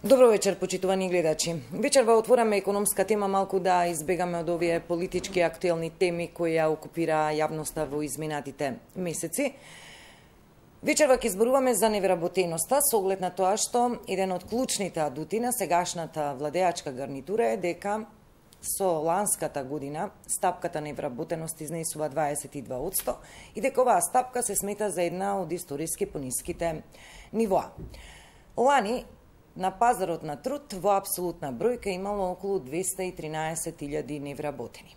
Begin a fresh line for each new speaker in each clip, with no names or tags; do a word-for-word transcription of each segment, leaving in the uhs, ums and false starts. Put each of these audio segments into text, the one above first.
Добро вечер, почитувани гледачи. Вечерва отвораме економска тема, малку да избегаме од овие политички актуелни теми кои ја окупира јавноста во изминатите месеци. Вечерва ќе зборуваме за невработеноста, со оглед на тоа што еден од клучните адути на сегашната владеачка гарнитура е дека со ланската година стапката невработеност изнесува дваесет и два одсто и дека оваа стапка се смета за една од историски пониските нивоа. Лани на пазарот на труд во апсолутна бројка имало околу двесте и тринаесет илјади невработени.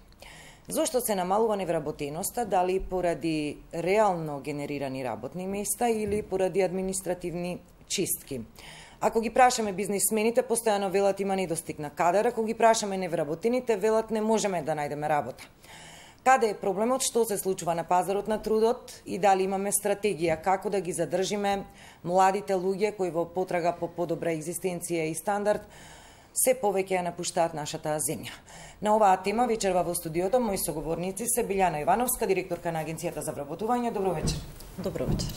Зошто се намалува невработеноста, дали поради реално генерирани работни места или поради административни чистки? Ако ги прашаме бизнисмените, постојано велат има недостиг на кадар, ако ги прашаме невработените, велат не можеме да најдеме работа. Каде е проблемот, што се случува на пазарот на трудот и дали имаме стратегија како да ги задржиме младите луѓе кои во потрага по подобра екзистенција и стандард се повеќе ја напуштаат нашата земја. На оваа тема вечерва во студиото мои соговорници се Билјана Ивановска, директорка на Агенцијата за вработување. Добро вечер.
Добро вечер.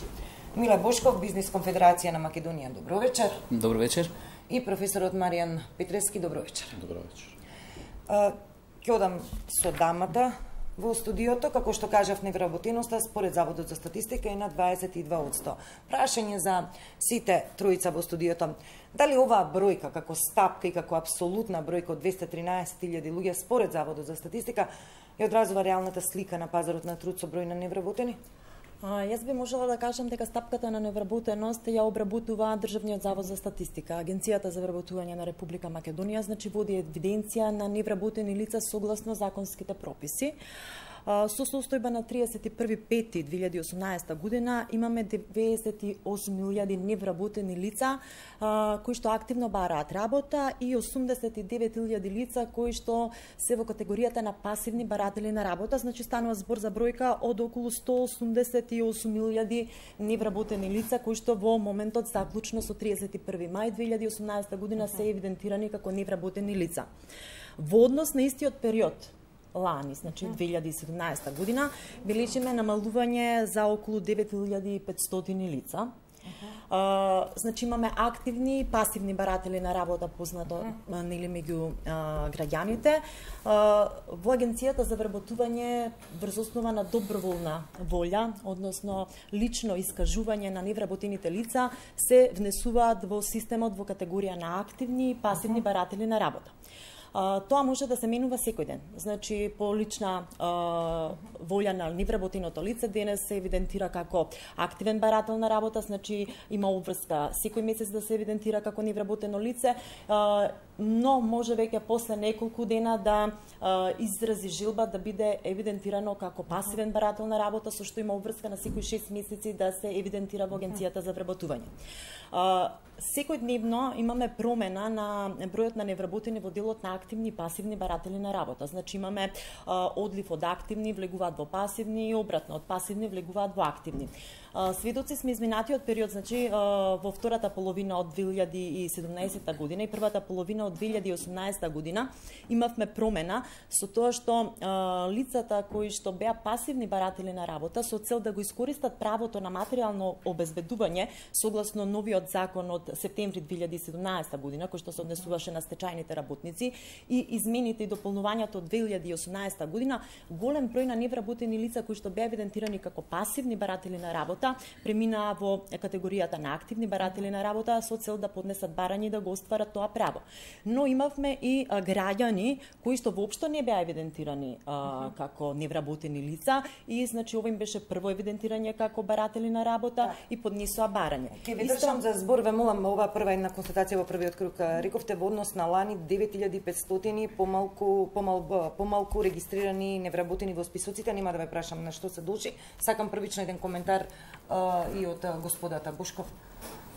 Миле Бошков, Бизнис конфедерација на Македонија. Добро вечер.
Добро вечер.
И професорот Маријан Петрески. Добро вечер.
Добро вечер.
Ќе одам со дамата во студиото, како што кажав, невработеноста според Заводот за статистика е на дваесет и два одсто. Прашање за сите тројца во студиото. Дали оваа бројка како стапка и како апсолутна бројка од двесте и тринаесет илјади луѓе според Заводот за статистика ја одразува реалната слика на пазарот на труд со број на невработени?
А, јас би можела да кажам дека стапката на невработеност ја обработува Државниот завод за статистика. Агенцијата за вработување на Република Македонија значи води евиденција на невработени лица согласно законските прописи. Со состојба на триесет и први пети две илјади и осумнаесета година имаме деветдесет и осум илјади невработени лица кои што активно бараат работа и осумдесет и девет илјади лица кои што се во категоријата на пасивни баратели на работа, значи станува збор за бројка од околу сто осумдесет и осум илјади невработени лица кои што во моментот заклучно со триесет и први мај две илјади и осумнаесета година се евидентирани како невработени лица. Во однос на истиот период лани, значи две илјади и седумнаесета година, бележиме намалување за околу девет илјади и петстотини лица. Uh -huh. uh, значи имаме активни и пасивни баратели на работа, познато uh -huh. нели меѓу uh, граѓаните. Uh, во Агенцијата за вработување врз основа на доброволна волја, односно лично искажување на невработените лица, се внесуваат во системот во категорија на активни и пасивни uh -huh. баратели на работа. Uh, тоа може да се менува секој ден. Значи, по лична uh, волја на невработеното лице денес се евидентира како активен барател на работа, значи има обврска секој месец да се евидентира како невработено лице, uh, но може веќе после неколку дена да uh, изрази жилба да биде евидентирано како пасивен барател на работа, со што има обврска на секој шест месеци да се евидентира во Агенцијата за вработување. Uh, Секојдневно имаме промена на бројот на невработени во делот на активни и пасивни баратели на работа. Значи имаме а, одлив од активни влегуваат во пасивни и обратно од пасивни влегуваат во активни. А, сведоци сме изминатиот период, значи а, во втората половина од две илјади и седумнаесета година и првата половина од две илјади и осумнаесета година имавме промена со тоа што а, лицата кои што беа пасивни баратели на работа со цел да го искористат правото на материјално обезбедување согласно новиот закон од септември две илјади и седумнаесета година, кој што се однесуваше на стечајните работници, и измените и дополнувањето од две илјади и осумнаесета година, голем број на невработени лица кои што беа евидентирани како пасивни баратели на работа преминаа во категоријата на активни баратели на работа со цел да поднесат барање и да го остварат тоа право. Но имавме и а, граѓани кои што воопшто не беа евидентирани а, uh -huh. како невработени лица и значи ова им беше прво евидентирање како баратели на работа uh -huh. и поднесоа барање.
Ке ви држам за збор, ве молам, ова прва една констатација во првиот круг. Рековте во однос на лани девет илјади и петстотини помалку помал, помалку регистрирани невработени во списоците. Нема да ве прашам на што се дължи. Сакам првично еден коментар а, и од а, господата Бошков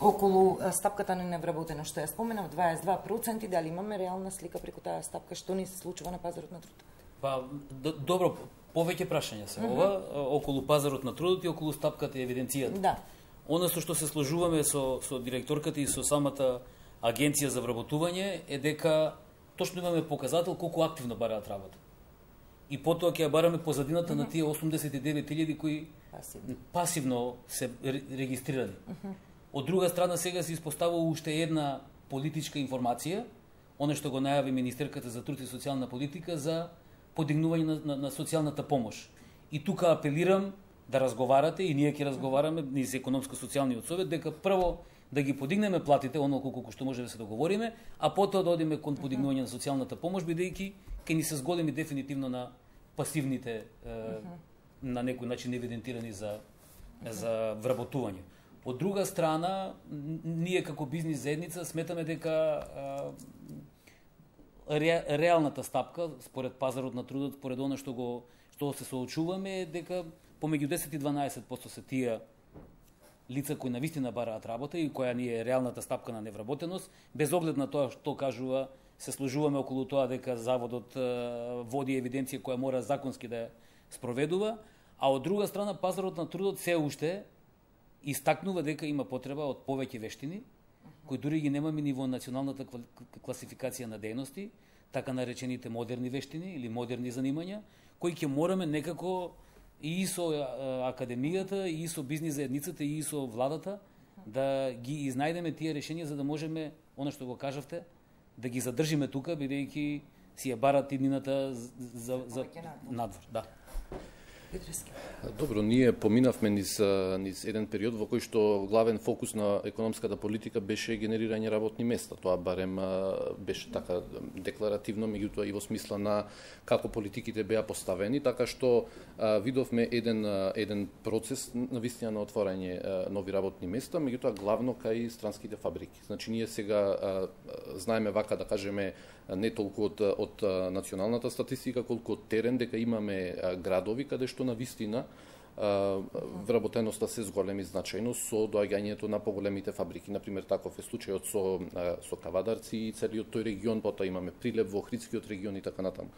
околу а, стапката на невработено што ја споменав, дваесет и два проценти, дали имаме реална слика преку таа стапка, што ни се случува на пазарот на труд?
Па добро, повеќе прашања се uh -huh. ова околу пазарот на трудот и околу стапката и евиденцијата.
Да.
Оно со што се сложуваме со со директорката и со самата Агенција за вработување е дека точно имаме показател колку активно бараат работа. И потоа ќе ја бараме позадината uh -huh. на тие осумдесет и девет илјади кои пасивно, пасивно се регистрирани. Uh -huh. Од друга страна сега се испоставува уште една политичка информација, оно што го најави Министерката за труд и социјална политика за подигнување на, на, на социјалната помош. И тука апелирам да разговарате, и ние ќе разговараме, низ економско-социјалниот совет, дека прво да ги подигнеме платите, онолку колку што може да се договориме, а потоа да одиме кон подигнување на социјалната помош, бидејќи ќе ни се зголеми дефинитивно на пасивните, е, на некој начин евидентирани за, за вработување. Од друга страна, ние како бизнис заедница сметаме дека ре, реалната стапка, според пазарот на трудот, според оно што го што се соочуваме, е дека помеѓу десет и дванаесет проценти се тие лица кои навистина бараат работа и која ни е реалната стапка на невработеност, без оглед на тоа што кажува, се сложуваме околу тоа дека заводот води евиденција која мора законски да ја спроведува, а од друга страна пазарот на трудот се уште истакнува дека има потреба од повеќе вештини, кои дури ги немаме ниво националната класификација на дејности, така наречените модерни вештини или модерни занимања, кои ќе мораме некако и со академијата, и со бизнис заедницата, и со владата да ги изнајдеме тие решенија за да можеме, оно што го кажавте, да ги задржиме тука, бидејќи си ја барат иднината за, за надвор. Да.
Добро, ние поминавме низ, низ еден период во кој што главен фокус на економската политика беше генерирање работни места. Тоа барем беше така декларативно, меѓутоа и во смисла на како политиките беа поставени, така што а, видовме еден еден процес навистина на отворање а, нови работни места, меѓутоа главно кај странските фабрики. Значи ние сега а, знаеме вака да кажеме не толку од, од националната статистика, колку од терен, дека имаме а, градови каде што навистина вработеноста се зголеми значајно со доаѓањето на поголемите фабрики. Например, таков е случајот со, со Кавадарци и целиот тој регион, потоа имаме прилеп во Охридскиот регион и така натаму.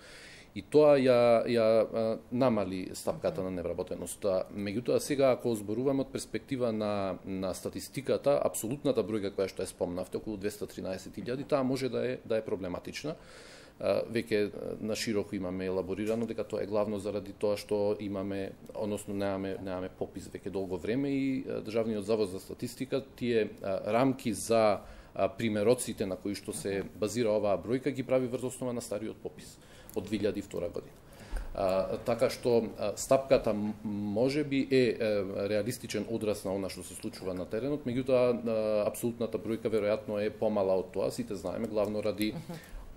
И тоа ја, ја намали стапката на невработеноста. Меѓутоа, сега, ако зборуваме од перспектива на, на статистиката, апсолутната бројка која што е спомнавте, околу двесте и тринаесет илјади, таа може да е, да е проблематична. Веќе на широко имаме елаборирано дека тоа е главно заради тоа што имаме, односно немаме немаме попис веќе долго време и Државниот завод за статистика тие рамки за примероците на кои што се базира оваа бројка ги прави врз основа на стариот попис од две илјади и втора година. А, така што а, стапката можеби е, е реалистичен одраз на она што се случува на теренот, меѓутоа апсолутната бројка веројатно е помала од тоа, сите знаеме, главно ради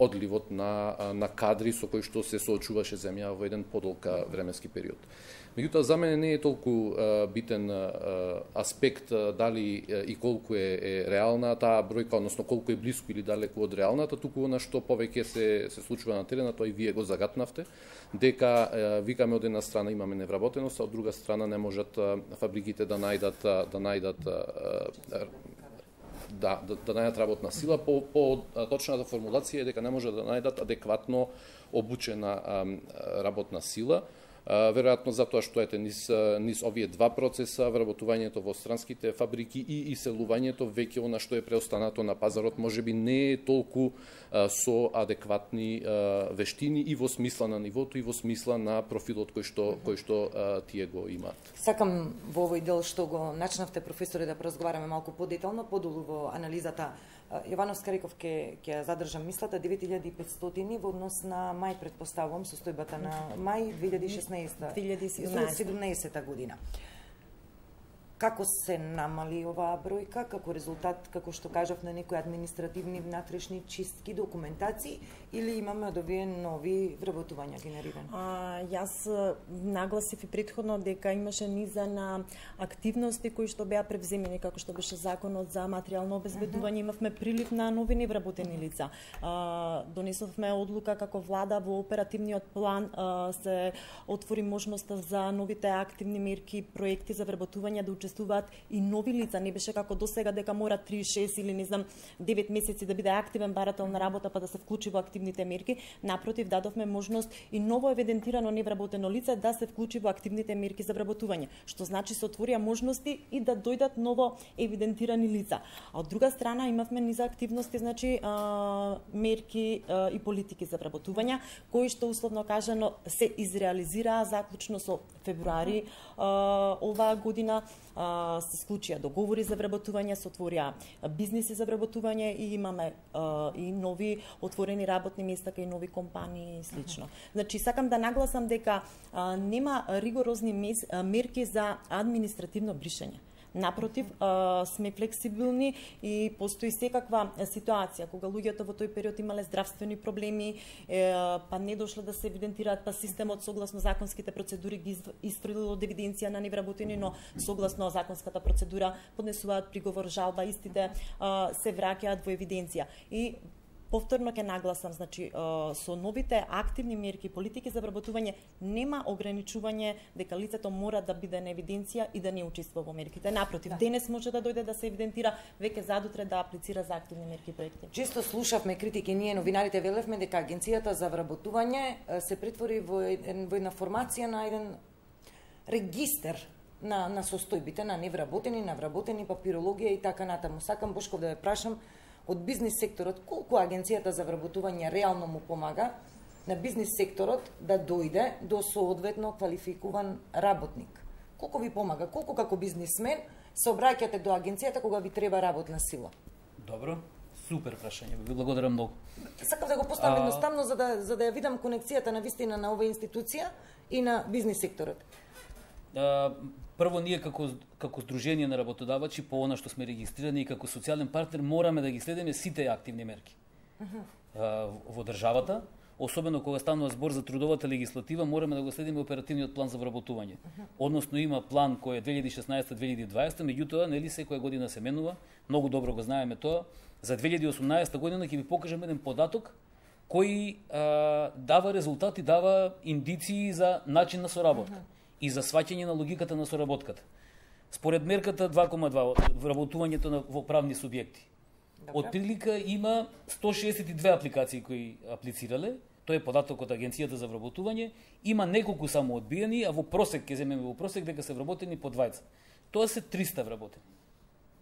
одливот на, на кадри со кои што се соочуваше земја во еден подолг временски период. Меѓутоа, за мене не е толку а, битен а, аспект а, дали а, и колку е, е реална таа бројка, односно колку е блиску или далеку од реалната, туку на што повеќе се, се случува на терена, тоа и вие го загатнавте, дека а, викаме од една страна имаме невработеност, а од друга страна не можат а, фабриките да најдат, а, да најдат а, Да, да, да најдат работна сила. По, по точната формулација е дека не може да најдат адекватно обучена а, работна сила. А, веројатно затоа што ете низ, низ овие два процеса, вработувањето во странските фабрики и иселувањето, веќе она што е преостанато на пазарот можеби не е толку а, со адекватни а, вештини и во смисла на нивото и во смисла на профилот кој што кој што а, тие го имаат.
Сакам во овој дел што го начнавте, професоре, да поразговараме малку подетално, подолу во анализата. Јованов Скариков ќе ќе задржам мислата, девет илјади и петстотини во однос на мај, предпоставувам, состојбата на мај две илјади и шеснаесета
две илјади и
седумнаесета година. Како се намали оваа бројка, како резултат, како што кажав, на некои административни внатрешни чистки, документации, или имаме од овие нови вработувања генерирани?
А, јас нагласив и претходно дека имаше низа на активности кои што беа превземени, како што беше законот за материјално обезбедување, uh -huh. имавме прилив на нови невработени лица. А, донесовме одлука како влада во оперативниот план а, се отвори можноста за новите активни мерки, проекти за вработување да учествуваат и нови лица, не беше како досега дека мора три, шест или не знам девет месеци да биде активен барател на работа па да се вклучи во активните мерки. Напротив, дадовме можност и ново евидентирано невработено лице да се вклучи во активните мерки за вработување, што значи се отворија можности и да дојдат ново евидентирани лица. А од друга страна имавме низа активности, значи а, мерки а, и политики за вработување, кои што условно кажано се изреализираа заклучно со февруари а, оваа година. а, се склучија договори за вработување, се отворија бизниси за вработување и имаме а, и нови отворени работни места кај нови компании и слично. Значи сакам да нагласам дека а, нема ригорозни мес, а, мерки за административно бришење. Напротив, сме флексибилни и постои секаква ситуација кога луѓето во тој период имале здравствени проблеми, па не дошле да се евидентираат, па системот согласно законските процедури ги истрелил од евиденција на невработени, но согласно законската процедура поднесуваат приговор, жалба, истите се враќаат во евиденција. И повторно ќе нагласам, значи со новите активни мерки, политики за вработување нема ограничување дека лицето мора да биде на евиденција и да не учествува во мерките. Напротив, да. Денес може да дојде да се евидентира, веќе задутре да аплицира за активни мерки и проекти.
Често слушавме критики, ние новинарите велевме дека агенцијата за вработување се претвори во, во една формација на еден регистер на на состојбите на невработени, на вработени, папирологија и така натаму. Сакам Бошков да ве прашам, од бизнис секторот, колку агенцијата за вработување реално му помага на бизнис секторот да дојде до соодветно квалификуван работник? Колку ви помага? Колку како бизнисмен се обраќате до агенцијата кога ви треба работна сила?
Добро, супер прашање. Ви благодарам многу.
Сакам да го поставам а... едноставно за да за да ја видам конекцијата на вистина на оваа институција и на бизнис секторот.
А, прво ние како како здружение на работодавачи по она што сме регистрирани и како социјален партнер мораме да ги следиме сите активни мерки. Uh -huh. а, во државата, особено кога станува збор за трудовата легислатива, мораме да го следиме оперативниот план за вработување. Uh -huh. Односно има план кој е две илјади и шеснаесета - две илјади и дваесета, меѓутоа нели секоја година се менува, многу добро го знаеме тоа. За две илјади и осумнаесета година ќе ви покажам еден податок кој а, дава резултати, дава индиции за начин на соработка. Uh -huh. И за сваќање на логиката на соработката. Според мерката два кoma два, вработувањето на во правни субјекти, од прилика има сто шеесет и две апликации кои аплицирале, тој е податок од Агенцијата за вработување, има неколку само одбиени, а во просек, ќе земеме во просек, дека се вработени по двајца. Тоа се триста вработени.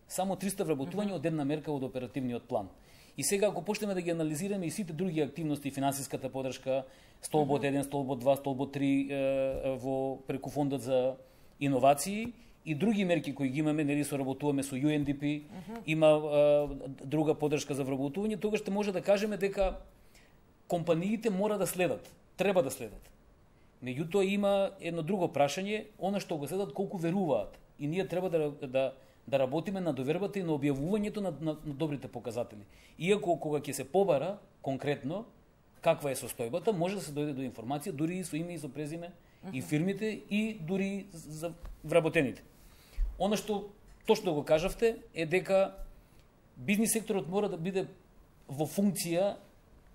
Само триста вработувања од една мерка од оперативниот план. И сега, ако почнеме да ги анализираме и сите други активности, финансиската подршка, столбот еден, столбот два, столбот три е, во преку фондот за иновации и други мерки кои ги имаме, нели соработуваме со Ю Ен Ди Пи, uh -huh. има е, друга подршка за вработување, тогаш ще може да кажеме дека компаниите мора да следат, треба да следат. Меѓутоа има едно друго прашање, она што го следат колку веруваат. И ние треба да да да работиме на довербата и на објавувањето на, на, на добрите показатели. Иако кога ќе се побара конкретно каква е состојбата, може да се дојде до информација, дури и со име и со презиме, uh -huh. и фирмите, и дури за вработените. Она што точно го кажавте е дека бизнис секторот мора да биде во функција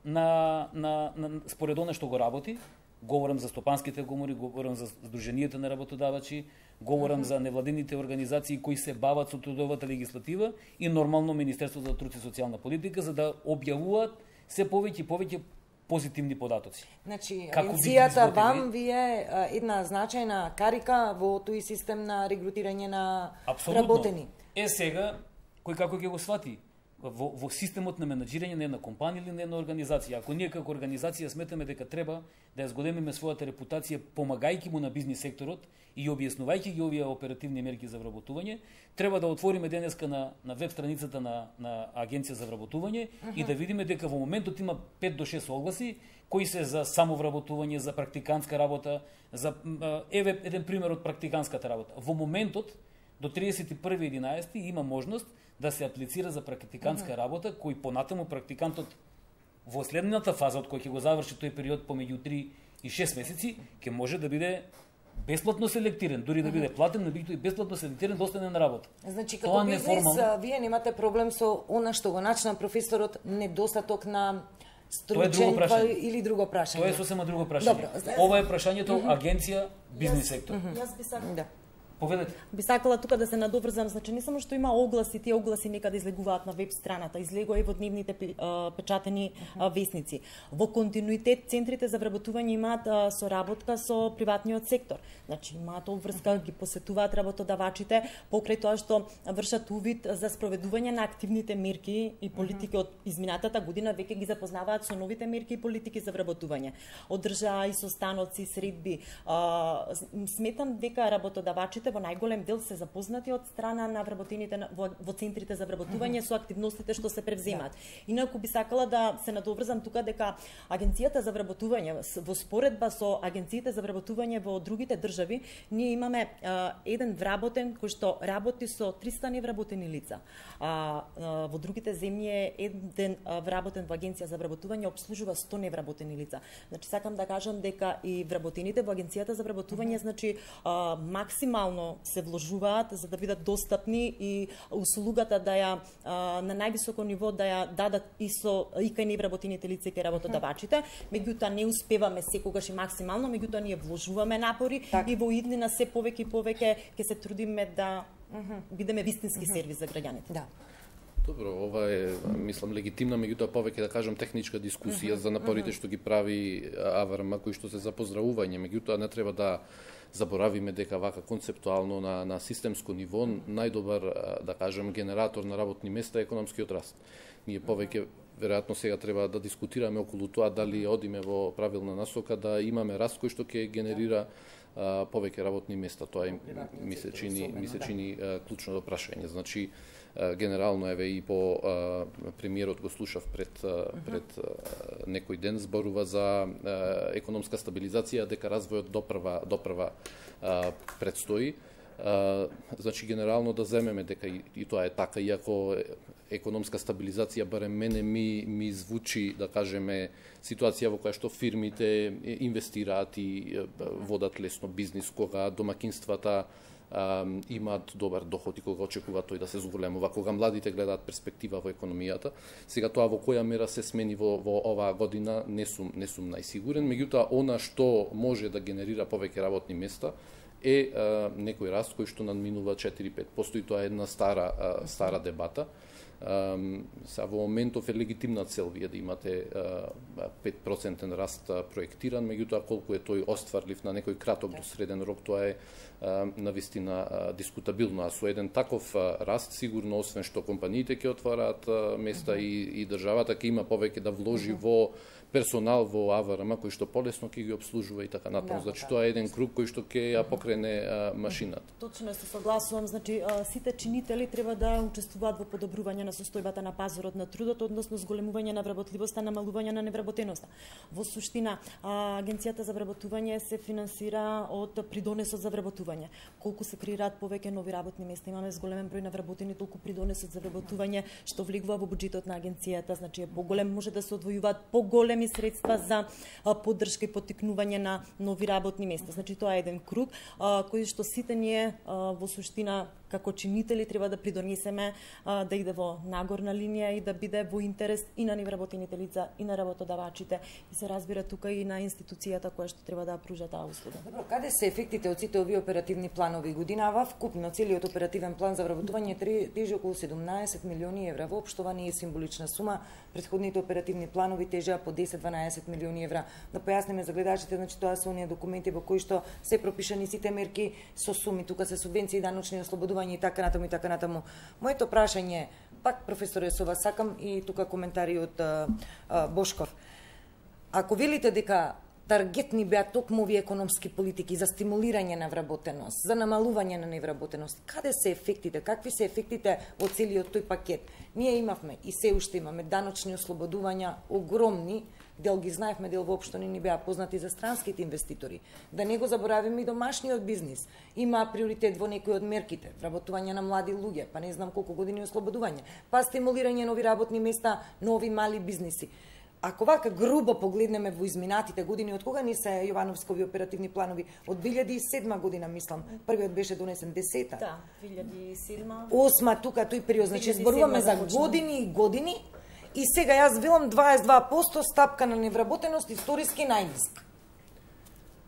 на, на, на според она што го работи. Говорам за стопанските комори, говорам за здруженијата на работодавачи, говорам uh -huh. за невладините организации кои се бават со трудовата легислатива и нормално Министерството за труд и социјална политика за да објавуваат се повеќе и повеќе позитивни податоци.
Значи, агенцијата вам ви е една значајна карика во тој систем на регрутирање на
Абсолютно.
Работени.
Е сега, кој како ќе го свати? Во, во системот на менаџирање на една компанија или на една организација. Ако ние како организација сметаме дека треба да ја зголемиме својата репутација помагајќи му на бизнис секторот и објаснувајќи ги овие оперативни мерки за вработување, треба да отвориме денеска на, на веб страницата на, на Агенција за вработување uh -huh. и да видиме дека во моментот има пет до шест огласи кои се за самовработување, за практикантска работа, за еве еден пример од практикантската работа. Во моментот до триесет и први единаесети има можност да се аплицира за практикантска uh -huh. работа, кој понатаму практикантот во следната фаза, од кој ќе го заврши тој период помеѓу три и шест месеци, ќе може да биде бесплатно селектиран, дури да биде платен, но и бесплатно селектиран да остане на работа.
Значи, како бизнес, неформално... вие немате проблем со она што го начна професорот, недостаток на стручен или друго прашање?
Тоа е сосема друго прашање. Добро, ова е прашањето uh -huh. агенција, бизнес сектор.
Uh -huh. Јас би сакала...
Да.
Поведете.
Би сакала тука да се надоврзам, значи не само што има огласи, тие огласи некаде излегуваат на веб страната, излегува и во дневните печатени весници. Во континуитет центрите за вработување имаат соработка со приватниот сектор. Значи имаат обврска, ги посетуваат работодавачите покрај тоа што вршат увид за спроведување на активните мерки и политики од изминатата година, веќе ги запознаваат со новите мерки и политики за вработување. Одржаа и состаноци, средби. Сметам дека работодавачите во најголем дел се запознати од страна на вработените во, во центрите за вработување со активностите што се превземаат. Инаку би сакала да се надоврзам тука дека Агенцијата за вработување во споредба со агенциите за вработување во другите држави, ние имаме а, еден вработен кој што работи со триста невработени лица. А, а во другите земји е еден а, вработен во Агенција за вработување обслужува сто невработени лица. Значи сакам да кажам дека и вработените во Агенцијата за вработување, значи а, максимално се вложуваат за да бидат достапни и услугата да ја а, на највисоко ниво да ја дадат и со и кај невработените лица и кај работодавачите. Меѓутоа не успеваме секогаш и максимално, меѓутоа ние вложуваме напори так. И во иднина се повеќе и повеќе ќе се трудиме да бидеме вистински сервис за граѓаните.
Да.
Добро, ова е, мислам, легитимна, меѓутоа повеќе да кажам техничка дискусија за напорите што ги прави АВРМ, кои што се за поздравување. Меѓутоа не треба да заборавиме дека вака концептуално на, на системско ниво најдобар, да кажем, генератор на работни места е економскиот раст. Ние повеќе веројатно сега треба да дискутираме околу тоа дали одиме во правилна насока да имаме раст кој што ќе генерира а, повеќе работни места. Тоа е, ми се чини, ми се чини а, клучно прашање. Значи, а, генерално еве и по а, премиерот го слушав пред а, пред а, некој ден, зборува за а, економска стабилизација, дека развојот допрва допрва а, предстои. Uh, значи генерално да земеме дека и, и тоа е така, иако економска стабилизација барем мене ми ми звучи, да кажеме, ситуација во која што фирмите инвестираат и водат лесно бизнис, кога домакинствата uh, имаат добар доход и кога очекуваат тој да се зголемува, кога младите гледаат перспектива во економијата. Сега тоа во која мера се смени во, во оваа година не сум не сум најсигурен, меѓутоа она што може да генерира повеќе работни места е а, некој раст кој што надминува четири до пет проценти. Постои тоа е една стара а, стара дебата. А, са во моментов е легитимна цел вие да имате а, пет проценти раст а, проектиран, меѓутоа колку е тој остварлив на некој краток до среден рок, тоа е а, навистина а, дискутабилно. А со еден таков а, раст сигурно, освен што компаниите ќе отвараат а, места uh -huh. и, и државата ќе има повеќе да вложи uh -huh. во персонал во АВРМ кој што полесно ќе ги обслужува и така натаму. Да, значи тоа е еден круг кој што ќе ја покрене а, машината.
Точно се согласувам, значи а, сите чинители треба да учествуваат во подобрување на состојбата на пазарот на трудот, односно зголемување на вработливоста, намалување на невработеноста. Во суштина, а, Агенцијата за вработување се финансира од придонесот за вработување. Колку се креираат повеќе нови работни места, имаме зголемен број на вработени, толку придонесот за вработување што влегува во буџетот на агенцијата, значи е поголем, може да се одвојуваат поголеми средства за а, поддршка и поттикнување на нови работни места. Значи тоа е еден круг а, кој што сите ние а, во суштина како чинители треба да придонесеме а, да иде во нагорна линија и да биде во интерес и на невработените лица и на работодавачите и се разбира тука и на институцијата која што треба да пружа таа услуга.
Добро, каде се ефектите од сите овие оперативни планови годинава? Вкупно целиот оперативен план за вработување тежи околу седумнаесет милиони евра. Воопшто ова не е символична сума. Претходните оперативни планови тежеа по десет до дванаесет милиони евра. Да појасниме за гледачите, значи тоа се оние документи во кои што се пропишани сите мерки со суми, тука се субвенции, даночни ослободувања и така натаму и така натаму. Моето прашање, пак професор Есова, сакам и тука коментари од а, а, Бошков. Ако велите дека таргетни беа токму овие економски политики за стимулирање на вработеност, за намалување на невработеност, каде се ефектите, какви се ефектите од целиот тој пакет? Ние имавме и се уште имаме даночни ослободувања огромни, дел ги знаевме, дел воопшто не ни беа познати за странските инвеститори. Да не го заборавиме и домашниот бизнис. Има приоритет во некои од мерките, вработување на млади луѓе, па не знам колку години ослободување, па стимулирање нови работни места, нови мали бизниси. Ако вака грубо погледнеме во изминатите години, од кога ни се Јовановскови оперативни планови? Од две илјади и седма година, мислам. Првиот беше донесен десета.
Да, две илјади и седма.
Осма, тука тој период, значи зборуваме за години и години. И сега јас велам дваесет и два проценти стапка на невработеност, историски најниска.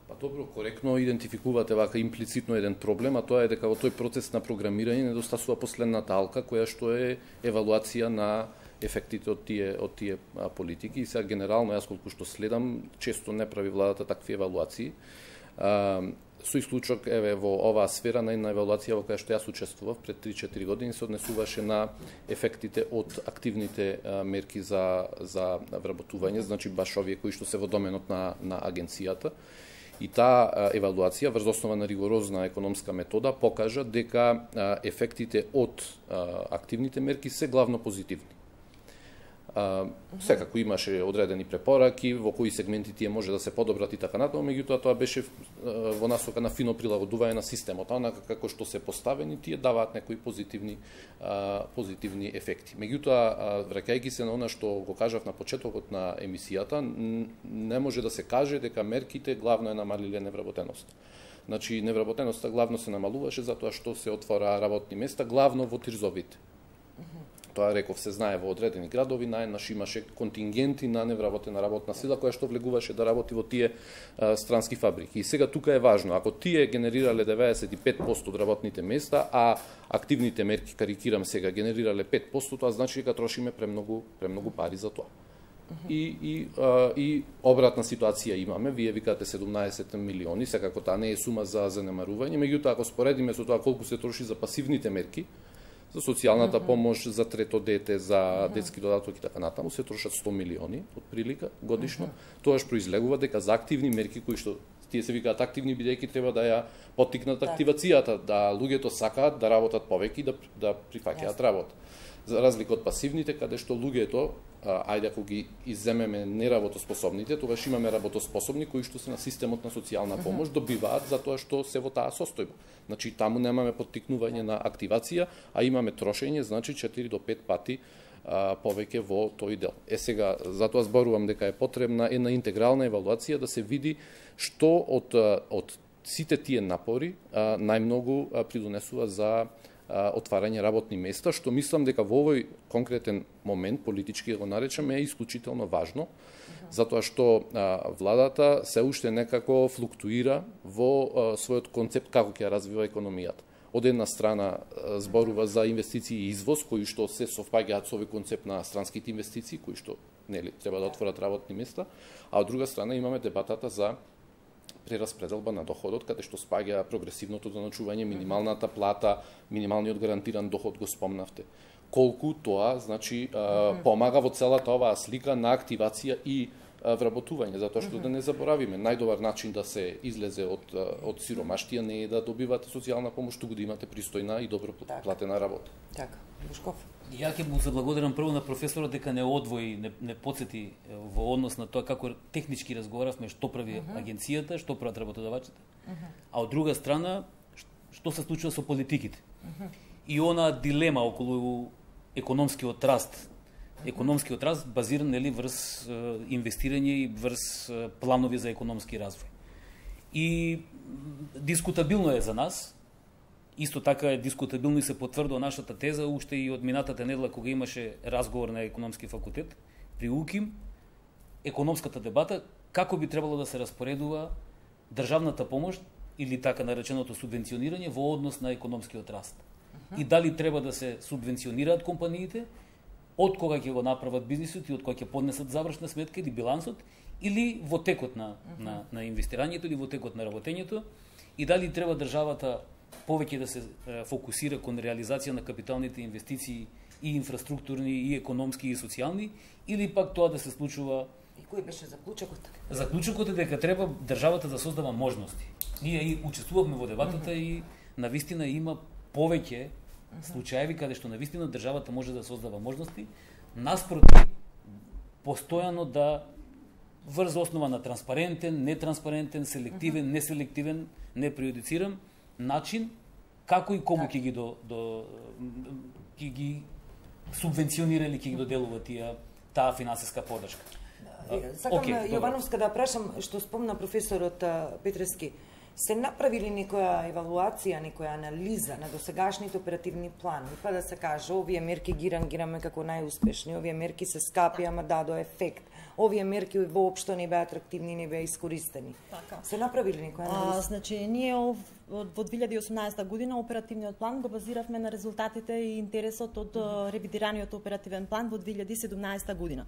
Па добро, коректно идентификувате вака имплицитно еден проблем, а тоа е дека во тој процес на програмирање недостасува последната алка, која што е евалуација на ефектите од тие од тие а, политики. И сега генерално јас колку што следам, често не прави владата такви евалуации. А, со исклучок еве во оваа сфера на една евалуација во која што јас учествував пред три-четири години се однесуваше на ефектите од активните а, мерки за за вработување, значи баш овие кои што се во доменот на на агенцијата. И таа евалуација врз основа на ригорозна економска метода покажа дека ефектите од активните мерки се главно позитивни. Uh, секако имаше одредени препораки во кои сегменти тие може да се подобрат и така натаму, меѓутоа тоа беше uh, во насока на фино прилагодување на системот, онака како што се поставени тие даваат некои позитивни uh, позитивни ефекти. Меѓутоа, uh, враќајќи се на она што го кажав на почетокот на емисијата, не може да се каже дека мерките главно е намалиле невработеност. Значи, невработеноста главно се намалуваше затоа што се отвора работни места, главно во ТИРЗ-овите. Тоа реков се знае во одредени градови, најнаш имаше контингенти на невработена работна сила која што влегуваше да работи во тие а, странски фабрики. И сега тука е важно, ако тие генерирале деветдесет и пет проценти од работните места, а активните мерки, карикирам сега, генерирале пет проценти, тоа значи дека трошиме премногу премногу пари за тоа. И, и, а, и обратна ситуација имаме, вие викате седумнаесет милиони, секако таа не е сума за занемарување, меѓутоа ако споредиме со тоа колку се троши за пасивните мерки, за социјалната помош, за трето дете, за детски додаток и така натаму, се трошат сто милиони од прилика годишно. Тоаш произлегува дека за активни мерки кои што тие се викаат активни бидејќи треба да ја поттикнат активацијата, да луѓето сакаат да работат повеќе и да да прифаќаат работа. За разлика од пасивните, каде што луѓето, ајде ако ги изземеме неработоспособните, тогаш имаме работоспособни кои што се на системот на социјална помош, добиваат затоа што се во таа состојба. Значи таму немаме поттикнување на активација, а имаме трошење, значи четири до пет пати а, повеќе во тој дел. Е сега, затоа зборувам дека е потребна една интегрална евалуација да се види што од од сите тие напори а, најмногу а, придонесува за отварање работни места, што мислам дека во овој конкретен момент, политички го наречаме, е исклучително важно, затоа што а, владата се уште некако флуктуира во а, својот концепт како ќе развива економијата. Од една страна а, зборува за инвестиции и извоз, кои што се совпаѓаат со овој концепт на странските инвестиции, кои што нели треба да отворат работни места, а од друга страна имаме дебатата за прераспределба на доходот, каде што спаѓа прогресивното доначување, минималната плата, минималниот гарантиран доход го спомнавте. Колку тоа, значи, помага во целата оваа слика на активација и вработување, затоа што да не заборавиме, најдобар начин да се излезе од од сиромаштија не е да добивате социјална помош, туку да имате пристојна и добро платена работа.
Така, Бушков.
Ја ќе му заблагодарам прво на професорот дека не одвои, не, не подсети во однос на тоа како технички разговаравме што прави uh -huh. агенцијата, што прават работодавачите, uh -huh. а од друга страна што се случува со политиките. Uh -huh. И она дилема околу економскиот раст, економскиот раст базиран нели врз инвестирање и врз планови за економски развој. И дискутабилно е за нас. Исто така е дискутабилно и се потврдува нашата теза уште и од минатата недела кога имаше разговор на економски факултет при УКИМ, економската дебата како би требало да се распоредува државната помош или така нареченото субвенционирање во однос на економскиот раст. Uh -huh. И дали треба да се субвенционираат компаниите, од кога ќе го направат бизнисот и од кога ќе поднесат завршна сметка или билансот, или во текот на, uh -huh. на, на инвестирањето или во текот на работењето, и дали треба државата повеќе да се фокусира кон реализација на капиталните инвестиции и инфраструктурни, и економски, и социјални, или пак тоа да се случува...
И кој беше заклучокот?
Заклучокот е дека треба државата да создава можности. Ние и учествувавме во дебатата uh -huh. и навистина има повеќе случаеви каде што навистина државата може да создава можности, наспроти постојано да врз основа на транспарентен, нетранспарентен, селективен, неселективен, не преюдицирам, начин како и кому ќе ги до, до ќе ги субвенционира или ќе ги доделува тие таа финансиска подршка.
Сакам okay, Јовановска да прашам што спомна професорот Петрески. Се направили некоја евалуација, некоја анализа на досегашните оперативни планови, па да се каже овие мерки ги рангираме како најуспешни, овие мерки се скапи, ама дадо ефект. Овие мерки воопшто не беа атрактивни, не беа искористени. Така. Се направили некоја анализа?
А, значи, ние ов, во две илјади и осумнаесета година оперативниот план го базиравме на резултатите и интересот од mm-hmm. ревидираниот оперативен план во две илјади и седумнаесета година.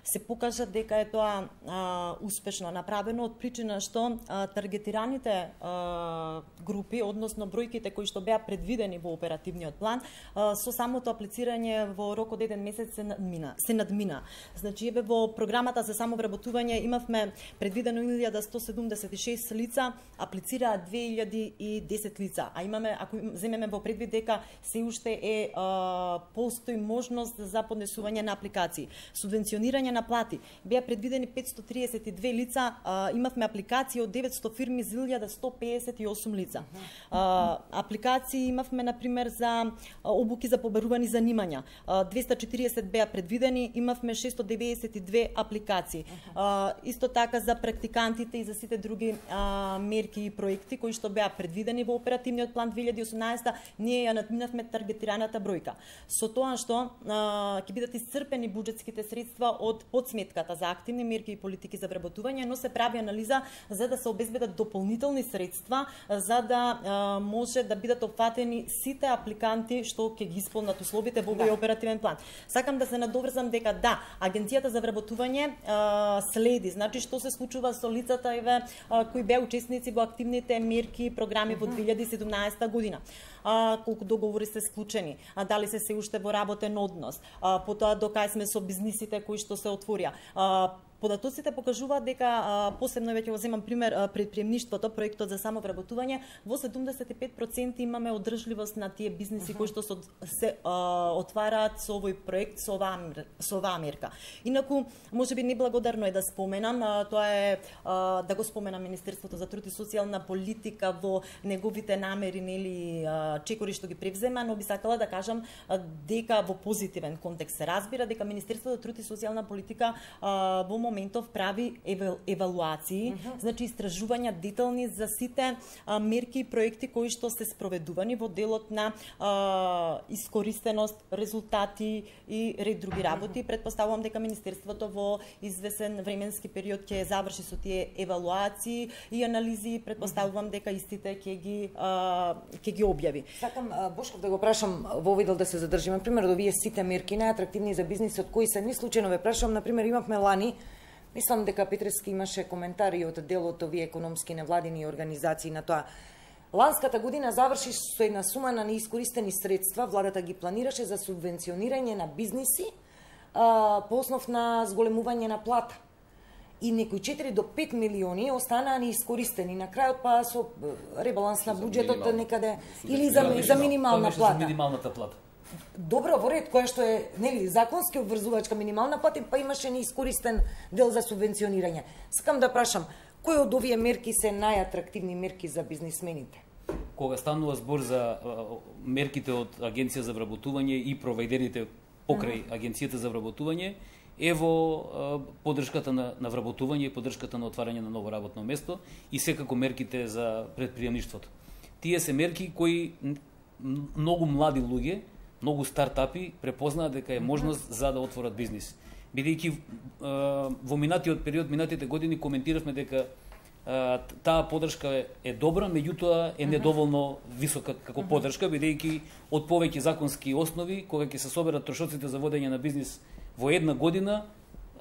Се покажа дека е тоа а, успешно направено од причина што а, таргетираните а, групи, односно бројките кои што беа предвидени во оперативниот план, а, со самото аплицирање во рок од еден месец се надмина. Се надмина. Значи, еве во програмата програмата за самовработување имавме предвидено илјада сто седумдесет и шест лица, аплицираа две илјади и десет лица. А имаме, ако земеме во предвид дека се уште е а, постои можност за поднесување на апликации. Субвенционирање на плати. Беа предвидени петстотини триесет и две лица, а, имавме апликации од деветсто фирми за илјада сто пеесет и осум лица. А, апликации имавме, например, за обуки за побарувани занимања. А, двеста четириесет беа предвидени, имавме шестоста деветдесет и две апликации. А, исто така за практикантите и за сите други а, мерки и проекти кои што беа предвидени во оперативниот план две илјади и осумнаесета, ние ја надминавме таргетираната бројка. Со тоа што ќе бидат исцрпени буџетските средства од подсметката за активни мерки и политики за вработување, но се прави анализа за да се обезбедат дополнителни средства за да а, може да бидат опфатени сите апликанти што ќе ги исполнат условите во овој оперативен план. Сакам да се надоврзам дека да, Агенцијата за вработување а, следи, значи што се случува со лицата еве а, кои беа учесници во активните мерки и програми во две илјади и седумнаесета година. А, колку договори се склучени, а дали се се уште во работен однос, а, потоа до кај сме со бизнисите кои што се отворија. А, Податоците покажуваат дека, а, посебно веќе го земам пример, предприемништвото, проектот за самовработување, во седумдесет и пет проценти имаме одржливост на тие бизниси uh -huh. кои што се а, отвараат со овој проект, со оваа, со оваа мерка. Инаку, можеби неблагодарно е да споменам, а, тоа е а, да го споменам Министерството за труд и социјална политика во неговите намери, нели, а, чекори што ги превзема, но би сакала да кажам а, дека во позитивен контекст се разбира дека Министерството за труд и социјална политика а, во моментов прави евалуации, uh -huh. значи истражувања детални за сите а, мерки и проекти кои што се спроведувани во делот на а, искористеност, резултати и ред други работи. Uh -huh. Предпоставувам дека Министерството во извесен временски период ќе заврши со тие евалуации и анализи, предпоставувам дека истите ќе ги а, ќе ги објави.
Сакам Бошков да го прашам во овој дел да се задржиме. На пример, овие сите мерки најатрактивни за бизнисот кои се, ни случајно ве прашам, на пример, имавме лани. Мислам дека Петрески имаше коментари од делот овие економски невладини организации на тоа. Ланската година заврши со една сума на неискористени средства, владата ги планираше за субвенционирање на бизниси а, по основ на зголемување на плата. И некои четири до пет милиони останаа неискористени. На крајот па со ребаланс на буџетот некаде или за, за минимална плата.
За минималната плата.
Добро, во ред, која што е, нели, законски обврзувачка минимална плата, па имаше неискористен дел за субвенционирање. Сакам да прашам, кои од овие мерки се најатрактивни мерки за бизнисмените?
Кога станува збор за мерките од Агенција за вработување и провајдерите покрај uh -huh. Агенцијата за вработување, ево поддршката на, на вработување и поддршката на отварање на ново работно место и секако мерките за предприемништвото. Тие се мерки кои многу млади луѓе, многу стартапи препознаат дека е можност за да отворат бизнис. Бидејќи во минатиот период, минатите години коментиравме дека а, таа поддршка е, е добра, меѓутоа е недоволно висока како поддршка, бидејќи од повеќе законски основи, кога ќе се соберат трошоците за водење на бизнис во една година,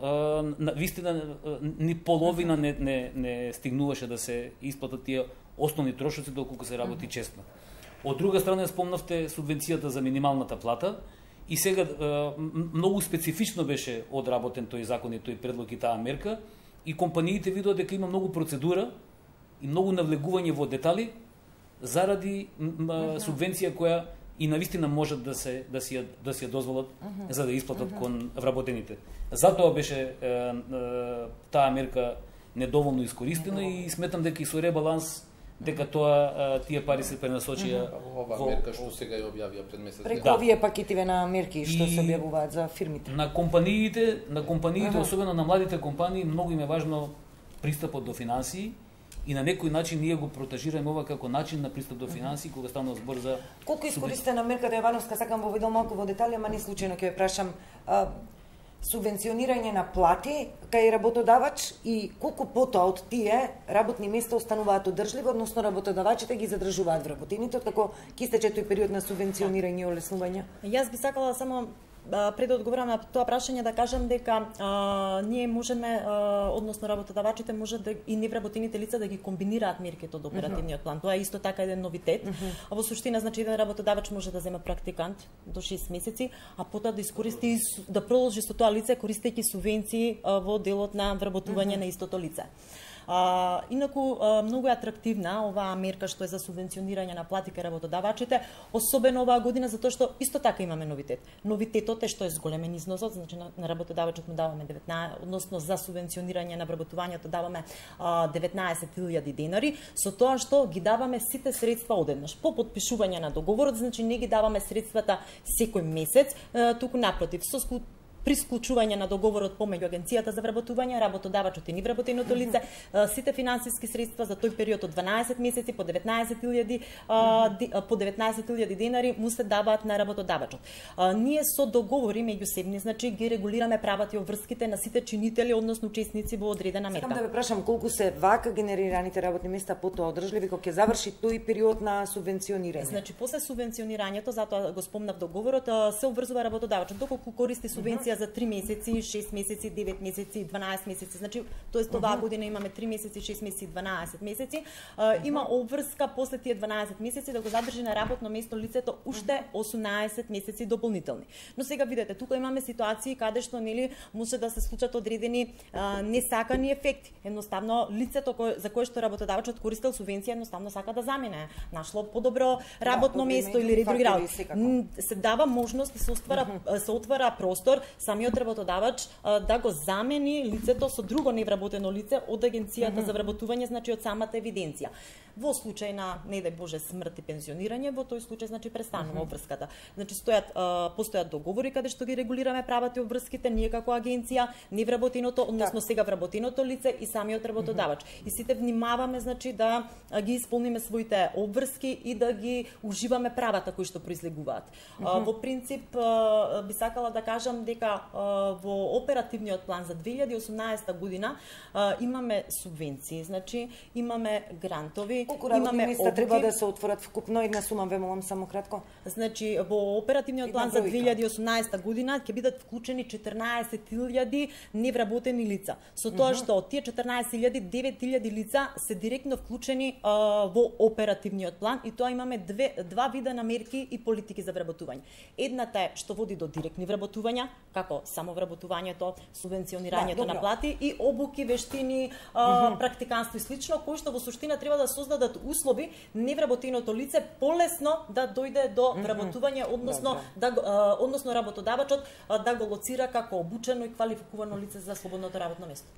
а, на вистина ни половина не, не, не стигнуваше да се исплатат тие основни трошоци доколку се работи честно. Од друга страна спомнавте субвенцијата за минималната плата и сега многу специфично беше одработен тој закон и тој предлог и таа мерка и компаниите видоа дека има многу процедура и многу навлегување во детали заради субвенција која и навистина можат да се да си да си ја дозволат за да исплатат кон вработените. Затоа беше таа мерка недоволно искористена и сметам дека и со ребаланс дека тоа тие пари се пренасочија
ова во... мерка што сега ја објавија пред месец.
Преку да. овие пакетиве на мерки што и... се објавуваат за фирмите.
На компаниите, на компаниите, ага. особено на младите компании, многу им е важно пристапот до финансии и на некој начин ние го протежираме ова како начин на пристап до финансии кога станува збор за
колку искористена мерката Јовановска, сакам во видео малку во детали, ама не случајно ќе ве прашам. А... субвенционирање на плати кај работодавач и колку потоа од тие работни места остануваат одржливи, односно работодавачите ги задржуваат вработените, како ќе истече тој период на субвенционирање и олеснување?
Јас би сакала само пред да одговорам на тоа прашање да кажам дека а, ние можеме, а, односно работодавачите може да и невработените лица да ги комбинираат мерките од оперативниот план. Тоа е исто така еден новитет. Uh -huh. А во суштина значи еден работодавач може да земе практикант до шест месеци, а потоа да искористи да продолжи со тоа лице користејќи субвенции а, во делот на вработување uh -huh. на истото лице. А, инаку а, многу е атрактивна оваа мерка што е за субвенционирање на плати кај работодавачите, особено оваа година затоа што исто така имаме новитет. Новитетот е што е зголемен износот, значи на, на работодавачот му даваме деветнаесет, односно за субвенционирање на вработувањето даваме а, деветнаесет илјади денари, со тоа што ги даваме сите средства одеднаш. По потпишување на договорот, значи не ги даваме средствата секој месец, а, туку напротив, со при склучување на договорот помеѓу Агенцијата за вработување, работодавачот и невработеното лице, сите финансиски средства за тој период од дванаесет месеци по деветнаесет илјади по деветнаесет илјади денари му се даваат на работодавачот. Ние со договори меѓусебни, значи ги регулираме правата и обврските на сите чинители, односно учесници во одредена мерка.
Сакам да ве прашам колку се вака генерираните работни места потоа одржливи кога ќе заврши тој период на субвенционирање?
Значи после субвенционирањето, затоа го спомнав договорот, се обврзува работодавачот доколку користи субвенција за три месеци, шест месеци, девет месеци, дванаесет месеци. Значи, тоест оваа година имаме три месеци, шест месеци, дванаесет месеци. Uh, има обврска после тие дванаесет месеци да го задржи на работно место лицето уште осумнаесет месеци дополнителни. Но сега видете, тука имаме ситуации каде што нели може да се случат одредени uh, несакани ефекти. Едноставно лицето кој, за кое што работодавачот користел субвенција едноставно сака да замене, нашло подобро работно да, место или други работи. Се дава можност да се оствара uh -huh. се отвара простор самиот работодавач а, да го замени лицето со друго невработено лице од Агенцијата mm -hmm. за вработување, значи од самата евиденција. Во случај на, не дај Боже, смрт и пензионирање, во тој случај значи престанува mm -hmm. обврската. Значи стојат а, постојат договори каде што ги регулираме правата и обврските ние како агенција, невработеното, односно сега вработеното лице и самиот работодавач. Mm -hmm. И сите внимаваме значи да а, ги исполниме своите обврски и да ги уживаме правата кои што произлегуваат. Mm -hmm. а, во принцип а, би сакала да кажам дека во оперативниот план за две илјади и осумнаесета година а, имаме субвенции, значи имаме грантови,
колку
имаме
места треба да се отворат вкупно, една сума ве молам само кратко.
Значи во оперативниот план за две илјади и осумнаесета година ќе бидат вклучени четрнаесет илјади невработени лица. Со тоа што од тие четрнаесет илјади, девет илјади лица се директно вклучени а, во оперативниот план и тоа имаме две два вида на мерки и политики за вработување. Едната е што води до директни вработувања, како само вработувањето, субвенционирањето да, на плати и обуки, вештини, а, mm -hmm. практиканство и слично, кои што во суштина треба да создадат услови невработеното лице полесно да дојде до вработување, односно mm -hmm. да а, односно работодавачот а, да го лоцира како обучено и квалификувано лице за слободното работно место.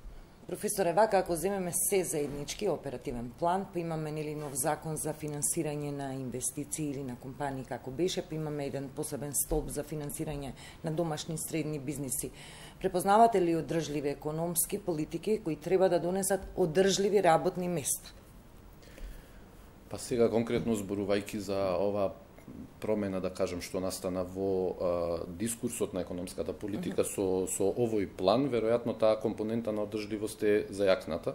Професоре, вака ако земеме се заеднички оперативен план, па имаме нели нов закон за финансирање на инвестиции или на компании како беше, па имаме еден посебен столб за финансирање на домашни и средни бизниси. Препознавате ли одржливи економски политики кои треба да донесат одржливи работни места?
Па сега конкретно зборувајќи за ова промена, да кажем, што настана во а, дискурсот на економската политика uh -huh. со, со овој план, веројатно таа компонента на одржливост е зајакната.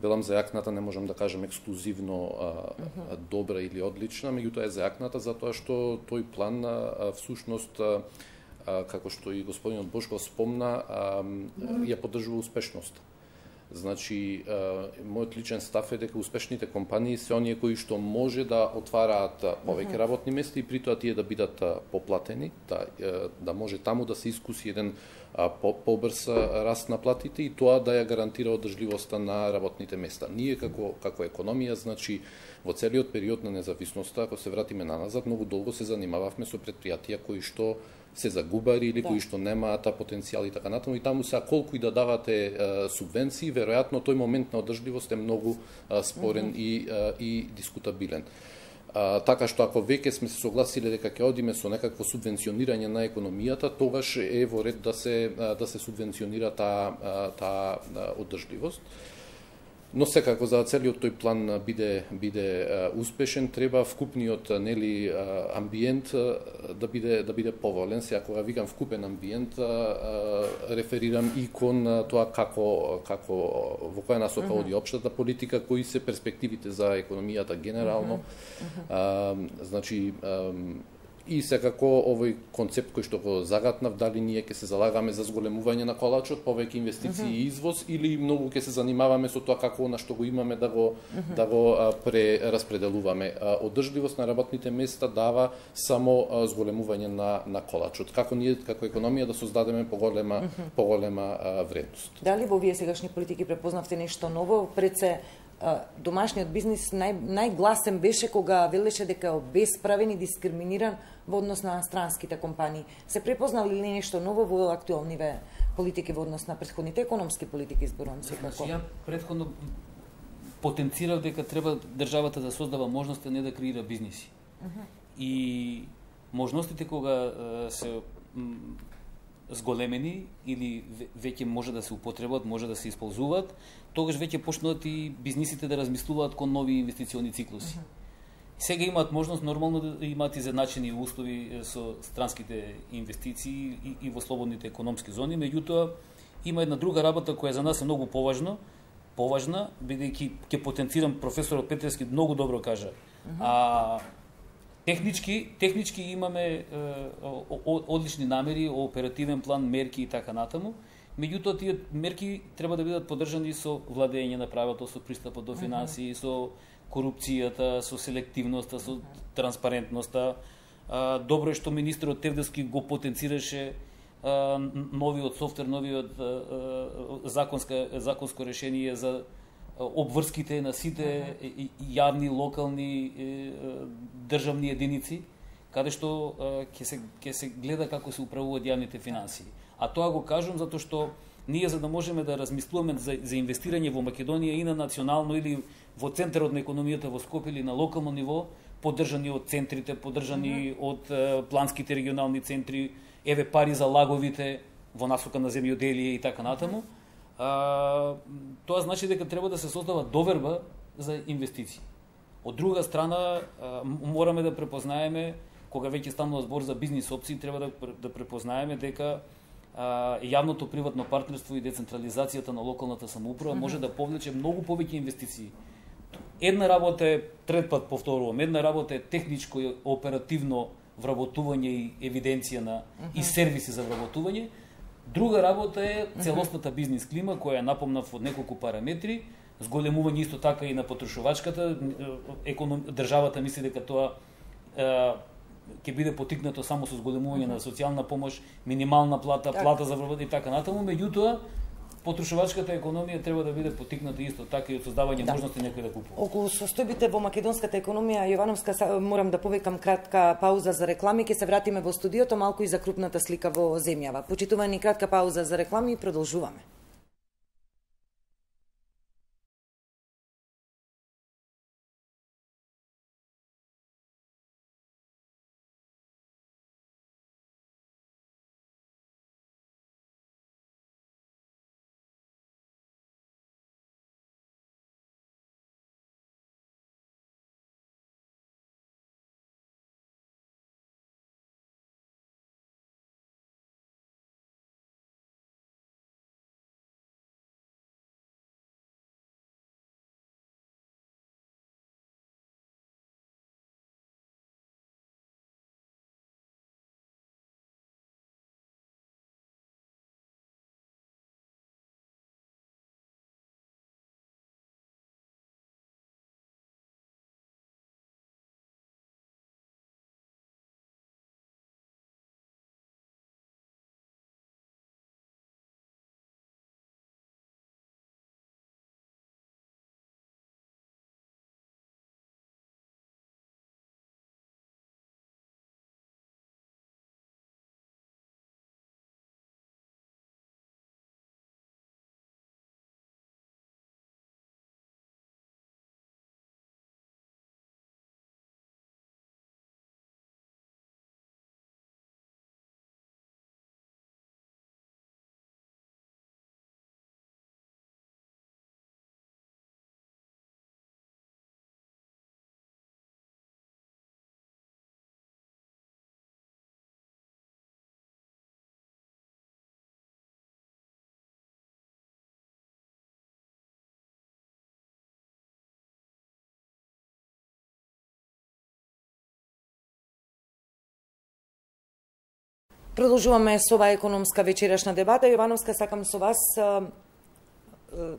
Велам зајакната, не можам да кажем ексклузивно а, uh -huh. добра или одлична, меѓутоа е зајакната затоа што тој план а, всушност а, а, како што и господинот Бошков спомна, а, uh -huh. ја поддржува успешноста. Значи, мојот личен став е дека успешните компании се оние кои што може да отвараат повеќе работни места и при тоа тие да бидат поплатени, да, да може таму да се искуси еден побрз раст на платите и тоа да ја гарантира одржливоста на работните места. Ние како како економија, значи во целиот период на независноста, ако се вратиме наназад, многу долго се занимававме со предпријатија кои што се загубари или да. кои што немаат потенцијал и така натаму, и таму се колку и да давате е, субвенции, веројатно тој момент на одржливост е многу е, спорен mm -hmm. и, е, и дискутабилен. А, така што ако веќе сме се согласиле дека ќе одиме со некакво субвенционирање на економијата, тогаш е во ред да се да се субвенционира таа таа одржливост. Но секако за целиот тој план биде биде успешен, треба вкупниот нели амбиент да биде да биде поволен. Сега кога викам вкупен амбиент, реферирам и кон тоа како како во која насока оди општата политика, кои се перспективите за економијата генерално. Uh -huh. Uh -huh. А, значи И секако овој концепт кој што го загатнав, дали ние ќе се залагаме за зголемување на колачот, повеќе инвестиции uh -huh. и извоз, или многу ќе се занимаваме со тоа како она што го имаме да го uh -huh. да го а, прераспределуваме. А, одржливост на работните места дава само а, зголемување на на колачот. Како ние како економија да создадеме поголема uh -huh. поголема а, вредност.
Дали во овие сегашни политики препознавте нешто ново? Пред се домашниот бизнис нај, најгласен беше кога велеше дека е обесправен и дискриминиран во однос на странските компании. Се препознали ли нешто ново во актуелниве политики во однос на претходните економски политики, зборувам секако?
Значи, ја претходно потенцирав дека треба државата да создава можности, не да креира бизниси. Uh -huh. И можностите кога се зголемени или веќе може да се употребат, може да се исползуваат, тогаш веќе почнуваат и бизнисите да размислуваат кон нови инвестициони циклуси. Uh -huh. Сега имаат можност нормално да имаат изедначени услови со странските инвестиции и, и во слободните економски зони, меѓутоа има една друга работа која за нас е многу поважно, поважна, бидејќи ќе потенцирам професорот Петревски многу добро кажа. Uh -huh. А Технички, технички имаме е, одлични намери, оперативен план, мерки и така натаму. Меѓутоа тие мерки треба да бидат поддржани со владење на правото, со пристапот до финансии, со корупцијата, со селективноста, со транспарентноста. А, добро е што министерот Тевдовски го потенцираше а, новиот софтвер, новиот а, законска, законско решение за обврските на сите јавни, локални, државни единици, каде што ќе се ќе се гледа како се управуваат јавните финансии. А тоа го кажувам затоа што ние за да можеме да размислуваме за, за инвестирање во Македонија и на национално или во центарот на економијата во Скопје или на локално ниво, поддржани од центрите, поддржани mm -hmm. од е, планските регионални центри, еве пари за лаговите во насока на земјоделие и така натаму. А, тоа значи дека треба да се создава доверба за инвестиции. Од друга страна, а, мораме да препознаеме, кога веќе станува збор за бизнис опции, треба да, да препознаеме дека а, јавното приватно партнерство и децентрализацијата на локалната самоуправа mm -hmm. може да повлече многу повеќе инвестиции. Една работа е, трет пат повторувам, една работа е техничко и оперативно вработување и евиденција на mm -hmm. и сервиси за вработување. Друга работа е целосната бизнис клима, која напомнав од неколку параметри, зголемување исто така и на потрошувачката. Економ... Државата мисли дека тоа е, ќе биде потикнато само со зголемување mm -hmm. на социјална помош, минимална плата, так. плата за вработување и така натаму, меѓутоа потрошувачката економија треба да биде потикната исто така и од создавање да. можности некој да купува.
Околу состојбите во македонската економија, Јовановска, морам да повикам кратка пауза за реклами, ќе се вратиме во студиото малку и за крупната слика во земјава. Почитувани, кратка пауза за реклами и продолжуваме. Продолжуваме со оваа економска вечерашна дебата. Јовановска, сакам со вас, а, а,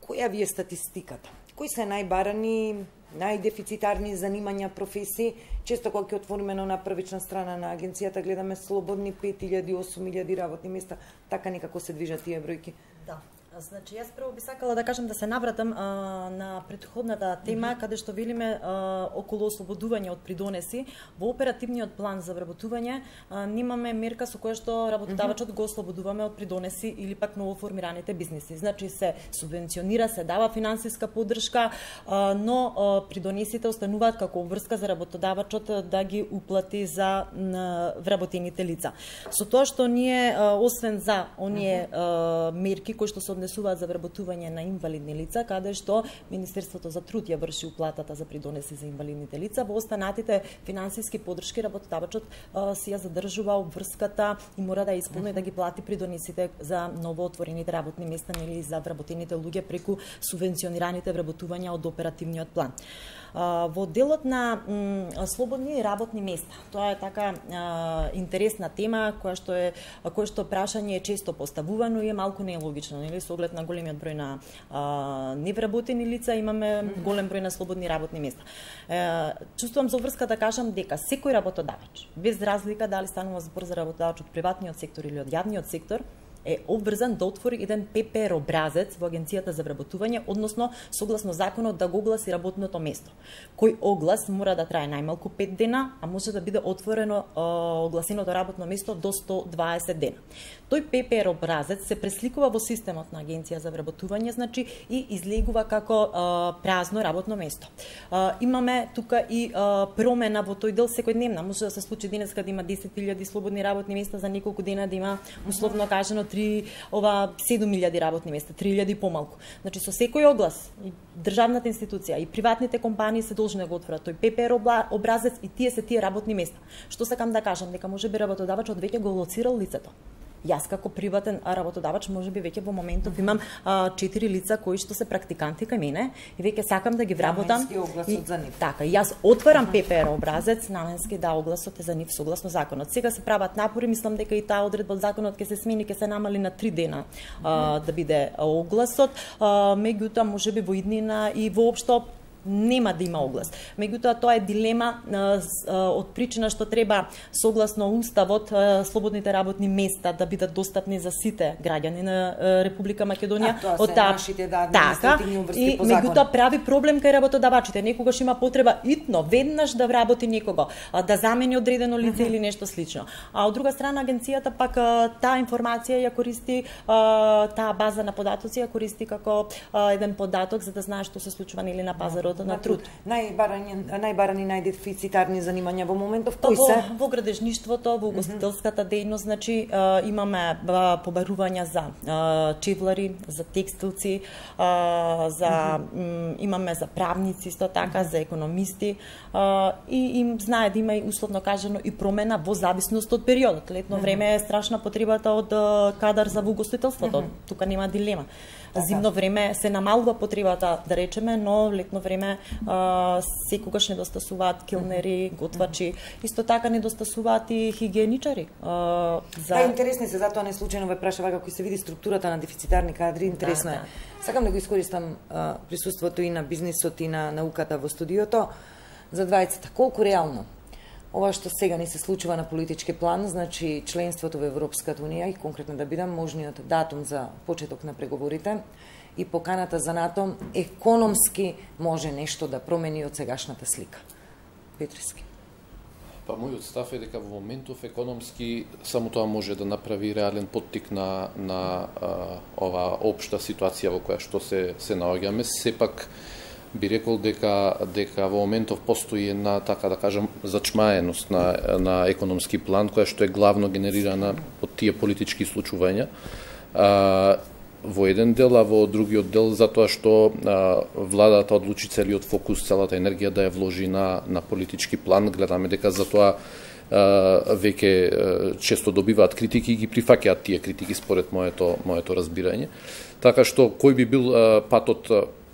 која ви е статистиката? Кои се најбарани, најдефицитарни занимања, професии? Често кога ќе отвориме на првична страна на агенцијата, гледаме слободни пет илјади, осум илјади работни места. Така некако се движат тие бројки.
Да. Значи, јас прво би сакала да кажам да се навратам а, на претходната тема, mm -hmm. каде што велиме а, околу ослободување од придонеси. Во оперативниот план за вработување а, немаме мерка со која што работодавачот mm -hmm. го ослободуваме од придонеси или пак новоформираните бизниси. Значи, се субвенционира, се дава финансиска поддршка, а, но а, придонесите остануваат како обврска за работодавачот да ги уплати за на, вработените лица. Со тоа што ние, а, освен за оние а, мерки кои што се однесуваат за вработување на инвалидни лица, каде што Министерството за труд ја врши уплатата за придонеси за инвалидните лица, во останатите финансиски поддршки работодавачот си ја задржува обврската и мора да исполни да ги плати придонесите за новоотворените работни места или за вработените луѓе преку субвенционираните вработувања од оперативниот план. Во делот на слободни работни места, тоа е така а, интересна тема која што е која што прашање е често поставувано и е малку нелогично, нели, со оглед на големиот број на а, невработени лица, имаме голем број на слободни работни места. Е, чувствувам за врска да кажам дека секој работодавач, без разлика дали станува збор за работодавач од приватниот сектор или од јавниот сектор, е обврзан да отвори еден П П Р образец во Агенцијата за вработување, односно согласно законот да го огласи работното место. Кој оглас мора да трае најмалку пет дена, а може да биде отворено о, огласеното работно место до сто дваесет дена. Тој П П Р образец се пресликува во системот на Агенција за вработување, значи и излегува како о, празно работно место. О, имаме тука и о, промена во тој дел секојдневна. Може да се случи денес кога има десет илјади слободни работни места, за неколку дена да има условно кажано три ова седум илјади работни места, три илјади помалку. Значи со секој оглас и државната институција и приватните компании се должни да го отворат тој П П Р образец и тие се тие работни места. Што сакам да кажам, дека можеби работодавачот веќе го лоцирал лицето. Јас како приватен работодавач можеби веќе во моментов имам а, четири лица кои што се практиканти кај мене и веќе сакам да ги вработам.
И, за нив.
Така, јас отварам П П Р образец, наменски да огласот е за нив согласно законот. Сега се прават напори, мислам дека и таа одредба од законот ќе се смени, ќе се намали на три дена а, да биде огласот. А, меѓутоа можеби во иднина и воопшто нема да има оглас. Меѓутоа тоа е дилема а, а, од причина што треба согласно уставот а, слободните работни места да бидат достапни за сите граѓани на а, Република Македонија.
А, тоа се
та...
нашите да
административни
обврски по
закон. И меѓутоа прави проблем кај работодавачите. Некогаш има потреба итно веднаш да вработи некого, а, да замени одредено лице uh -huh. или нешто слично. А од друга страна агенцијата пак а, таа информација ја користи, а, таа база на податоци ја користи како а, еден податок за да знае што се случува или на пазарот на труд.
Најбарани, најбарани, најдефицитарни занимања во моментов кои
во,
се?
Во градежништвото, во угостителската дејност, значи а, имаме а, побарувања за а, чевлари, за текстилци, а, за м, имаме за правници исто така, за економисти а, и им знае да има и условно кажано и промена во зависност од периодот. Летно време е страшна потребата од а, кадар за угостителството. Тука нема дилема. Зимно време се намалува потребата, да речеме, но летно време а, секогаш недостасуваат келнери, готвачи, исто така недостасуваат и хигиеничари. А, за...
Да, интересни се, затоа не случајно ве прашава како се види структурата на дефицитарни кадри, интересно да, е. Да. Сакам да го искористам а, присуството и на бизнисот и на науката во студиото за двајцата. Колку реално ова што сега ни се случува на политички план, значи членството во Европската унија и конкретно да бидам можниот датум за почеток на преговорите и поканата за НАТО, економски може нешто да промени од сегашната слика. Петриски.
Па мојот став е дека во моментов економски само тоа може да направи реален поттик на на а, ова општа ситуација во која што се се наоѓаме. Сепак би рекол дека дека во моментов постои една, така да кажам, зачмаеност на на економски план која што е главно генерирана од тие политички случувања. А, во еден дел, а во другиот дел затоа што а, владата одлучи целиот фокус, целата енергија да ја вложи на на политички план. Гледаме дека затоа веќе често добиваат критики и ги прифаќаат тие критики според моето моето разбирање. Така што кој би бил а, патот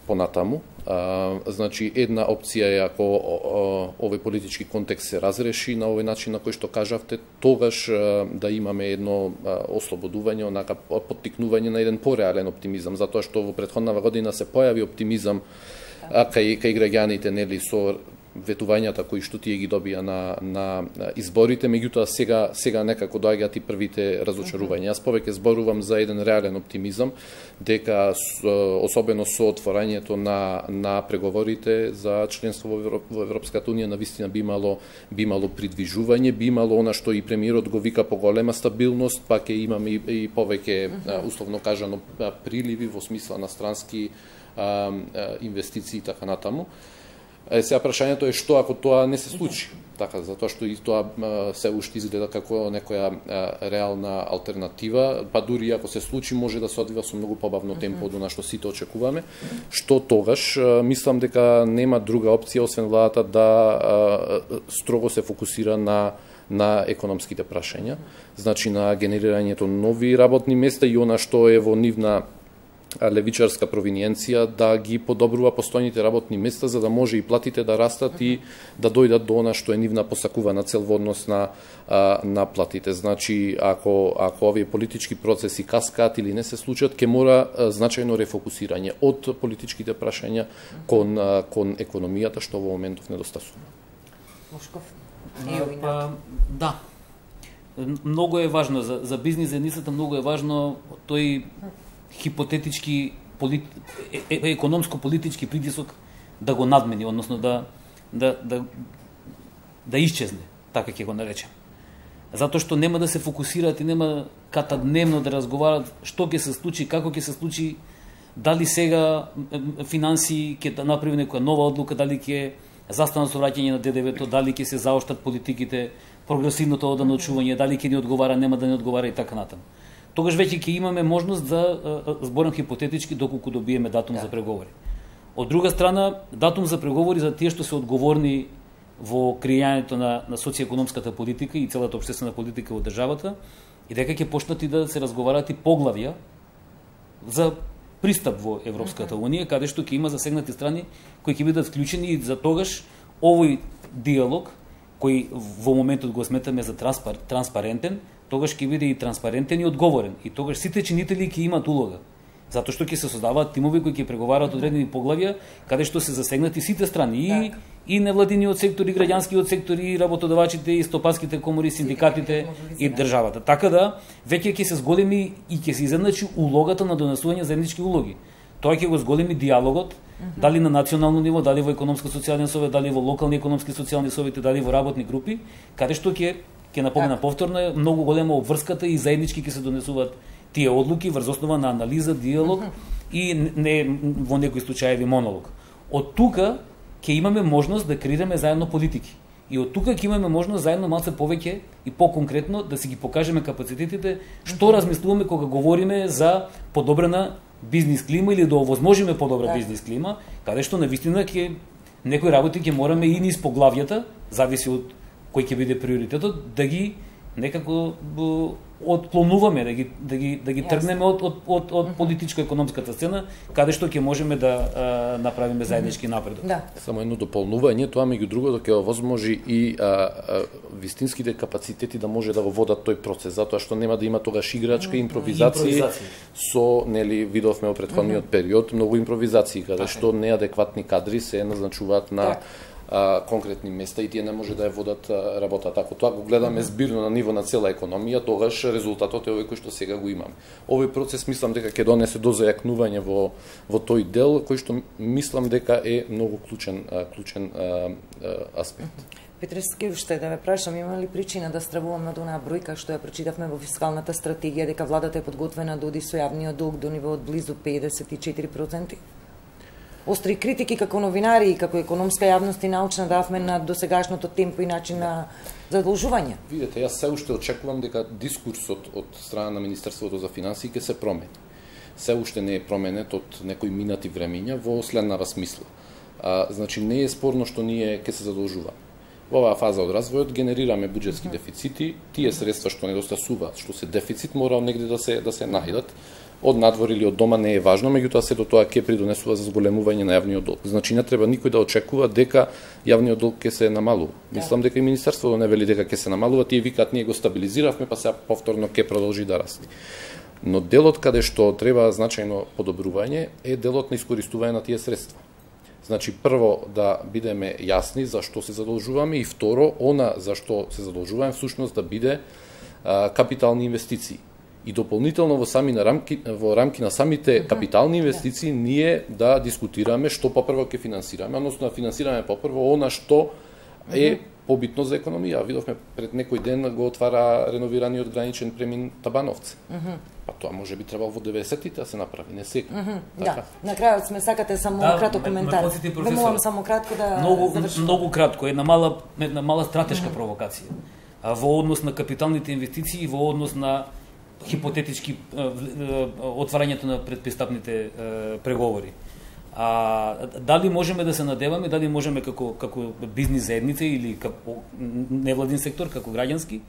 понатаму? А, значи, една опција е ако овој политички контекст се разреши на овој начин на кој што кажавте, тогаш а, да имаме едно а, ослободување, онака поттикнување на еден пореален оптимизам, затоа што во претходнава година се појави оптимизам а, кај, кај граѓаните, нели, со ветувањата кои што тие ги добија на, на изборите, меѓутоа сега, сега некако доаѓаат и првите разочарувања. Јас повеќе зборувам за еден реален оптимизам, дека особено со отворањето на, на преговорите за членство во, во Европската Унија навистина би имало, би имало придвижување, би имало она што и премиерот го вика поголема стабилност, па ќе имаме и, и повеќе, условно кажано, приливи во смисла на странски а, инвестиции и така натаму. Е, сега прашањето е што ако тоа не се случи, така, затоа што и тоа а, се уште изгледа како некоја а, реална алтернатива, па дури ако се случи може да се одвива со многу побавно темпо од она што сите очекуваме, што тогаш а, мислам дека нема друга опција освен владата да а, строго се фокусира на на економските прашања, значи на генерирањето нови работни места и она што е во нивна левичарска провиниенција да ги подобрува постојните работни места за да може и платите да растат и да дојдат до она што е нивна посакувана цел во однос на на платите. Значи ако ако овие политички процеси каскаат или не се случат, ќе мора значајно рефокусирање од политичките прашања кон кон економијата што во моментов недостасува.
Мошков.
Па, да. Многу е важно за за бизнис заедницата, многу е важно тој хипотетички полит... е, е, економско-политички притисок да го надмени, односно да да да да исчезне, така ќе го наречем. Затоа што нема да се фокусираат и нема ката дневно да разговарат што ќе се случи, како ќе се случи, дали сега финанси ќе да направи некоја нова одлука, дали ќе застанат со враќање на Д Д В-то, дали ќе се заоштат политиките, прогресивното оданочување, дали ќе ни одговара, нема да ни одговара и така натаму. Тогаш веќе ќе имаме можност за зборам хипотетички доколку добиеме датум да. за преговори. Од друга страна, датум за преговори за тие што се одговорни во креирањето на, на социјекономската политика и целата општествена политика во државата, и дека ќе почнат и да се разговараат и поглавја за пристап во Европската Унија, каде што ќе има засегнати страни кои ќе бидат вклучени и за тогаш овој диалог, кој во моментот го сметаме за транспар, транспарентен, тогаш ќе биде и транспарентен и одговорен. И тогаш сите чинители ќе имат улога. Затоа што ќе се создаваат тимови кои ќе преговараат одредени поглавја, каде што се засегнати сите страни, и, и невладиниот сектор, и граѓанскиот сектор, и работодавачите, и стопанските комори, синдикатите и државата. Така да, веќе ќе се зголеми и ќе се изедначи улогата на донесување заеднички улоги. Тоа ќе го зголеми диалогот, дали на национално ниво, дали во економско-социјален совет, дали во локални економски социјални совети, дали во работни групи, каде што ќе ќе напомена повторно е многу голема обврската и заеднички ќе се донесуваат тие одлуки врз основа на анализа, диалог и не во некои случаеви монолог. Од тука ќе имаме можност да креираме заедно политики. И од тука ќе имаме можност заедно малце повеќе и поконкретно да си ги покажеме капацитетите што размислуваме кога говориме за подобрена бизнис клима или да овозможиме подобра бизнис клима, каде што навистина ќе некои работи ќе мораме и низ поглавјата, зависи од кој ќе биде приоритетот, да ги некако отклонуваме, да ги да ги да ги тргнеме од од од, од политичко-економската сцена, каде што ќе можеме да а, направиме заеднички напредок.
Да.
Само едно дополнување, тоа меѓу другото ќе овозможи и а, а, вистинските капацитети да може да го водат тој процес, затоа што нема да има тогаш играчка, импровизации, импровизации. Со, нели, видовме во претходниот период многу импровизации, каде што неадекватни кадри се назначуваат на так. А, конкретни места и тие не може да ја водат а, работата. Ако тоа го гледаме збирно на ниво на цела економија, тогаш резултатот е овој кој што сега го имаме. Овој процес мислам дека ќе донесе до зајакнување во во тој дел кој што мислам дека е многу клучен а, клучен а, а, аспект.
Петрески, уште да ве прашам, има ли причина да стравуваме од онаа бројка што ја прочитавме во фискалната стратегија дека владата е подготвена да оди со јавниот долг до ниво од близу педесет и четири проценти? Остри критики како новинари и како економска јавност и научна давме на досегашното темпо и начин на задолжување.
Видете, јас се уште очекувам дека дискурсот од страна на Министерството за финансии ќе се промени. Се уште не е променет од некои минати времиња во следнава смисла. А, значи не е спорно што ние ќе се задолжуваме. Во оваа фаза од развојот генерираме буџетски дефицити, тие средства што недостасуваат, што се дефицит, мора негде да се да се најдат. од надвор или од дома не е важно, меѓутоа сето тоа ќе придонесува за зголемување на јавниот долг. Значи не треба никој да очекува дека јавниот долг ќе се намалува. Мислам дека и министерството не вели дека ќе се намалува, тие викаат ние го стабилизиравме, па сега повторно ќе продолжи да расте. Но делот каде што треба значајно подобрување е делот на искористување на тие средства. Значи, прво да бидеме јасни за што се задолжуваме и второ, она за што се задолжуваме всушност да биде а, капитални инвестиции. И дополнително во сами на рамки во рамки на самите капитални инвестиции ние да дискутираме што попрво ќе финансираме, односно да финансираме попрво она што е побитно за економија. Видовме пред некој ден го отвара реновираниот граничен премин Табановце. Па тоа може би требало во деветдесетите да се направи, не сега.
Mm -hmm. Да, на крајот сме сакате само
да,
кратко коментар. Вемувам само кратко да
многу,
завршим.
Многу кратко, една мала, една мала стратешка mm -hmm. провокација. А во однос на капиталните инвестиции и во однос на хипотетички отварањето на предпристапните преговори. А дали можеме да се надеваме, дали можеме како како бизнис заедница или како невладин сектор, како граѓански,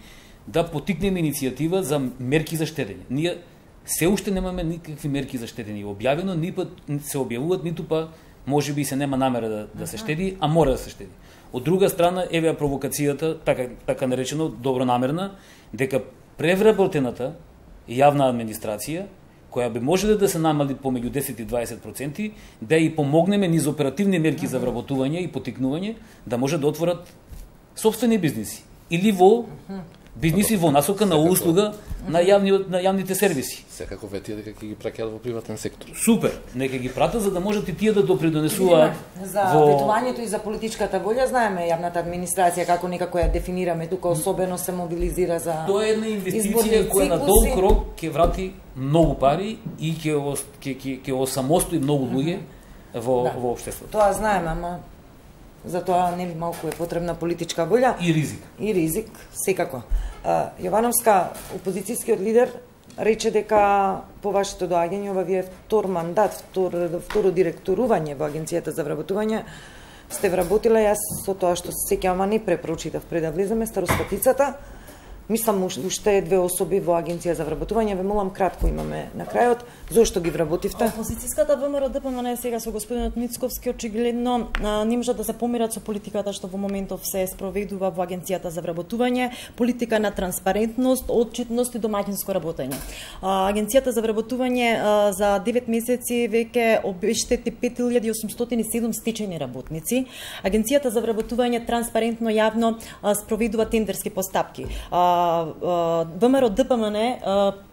да потикнеме иницијатива за мерки за штедење. Ние се уште немаме никакви мерки за штедење објавено, ни пат се објавуваат, ниту па можеби се нема намера да, да се штеди, а мора да се штеди. Од друга страна, еве провокацијата, така така наречено добронамерна, дека превработената јавна администрација, која би можеле да се намали помеѓу десет и дваесет проценти, да и помогнеме низ оперативни мерки за вработување и потикнување, да може да отворат сопствени бизниси. Или во бизниси во насока на услуга на јавни на јавните сервиси.
Секако ветија дека ќе ги праќаат во приватен сектор.
Супер, нека ги пратат за да можат и тие да допридонесуваат
за во... ветувањето и за политичката волја. Знаеме јавната администрација како некако ја дефинираме, тука особено се мобилизира за
тоа е една инвестиција која на долг рок ќе врати многу пари и ќе ќе ќе ќе осамостои многу луѓе во да. Во општеството.
Тоа знаеме, ама за тоа нели малку е потребна политичка волја
и ризик.
И ризик, секако. Јовановска, опозицијскиот лидер, рече дека по вашето доаѓање, ова вие втор мандат, втор, второ директорување во Агенцијата за вработување, сте вработила, јас со тоа што се сеќавам, а не препрочитав пред да влеземе, старостатицата, мислам уште две особи во Агенција за вработување, ве молам кратко имаме на крајот, зошто ги вработивте?
Опозицијската ВМРО Д П М Н сега со господинот Мицковски очигледно не можат да се помират со политиката што во моментов се спроведува во Агенцијата за вработување, политика на транспарентност, отчетност и домаќинско работење. Агенцијата за вработување за девет месеци веќе обештети пет илјади осумстотини и седум стечајни работници. Агенцијата за вработување транспарентно јавно спроведува тендерски постапки. ВМРО Д П М Н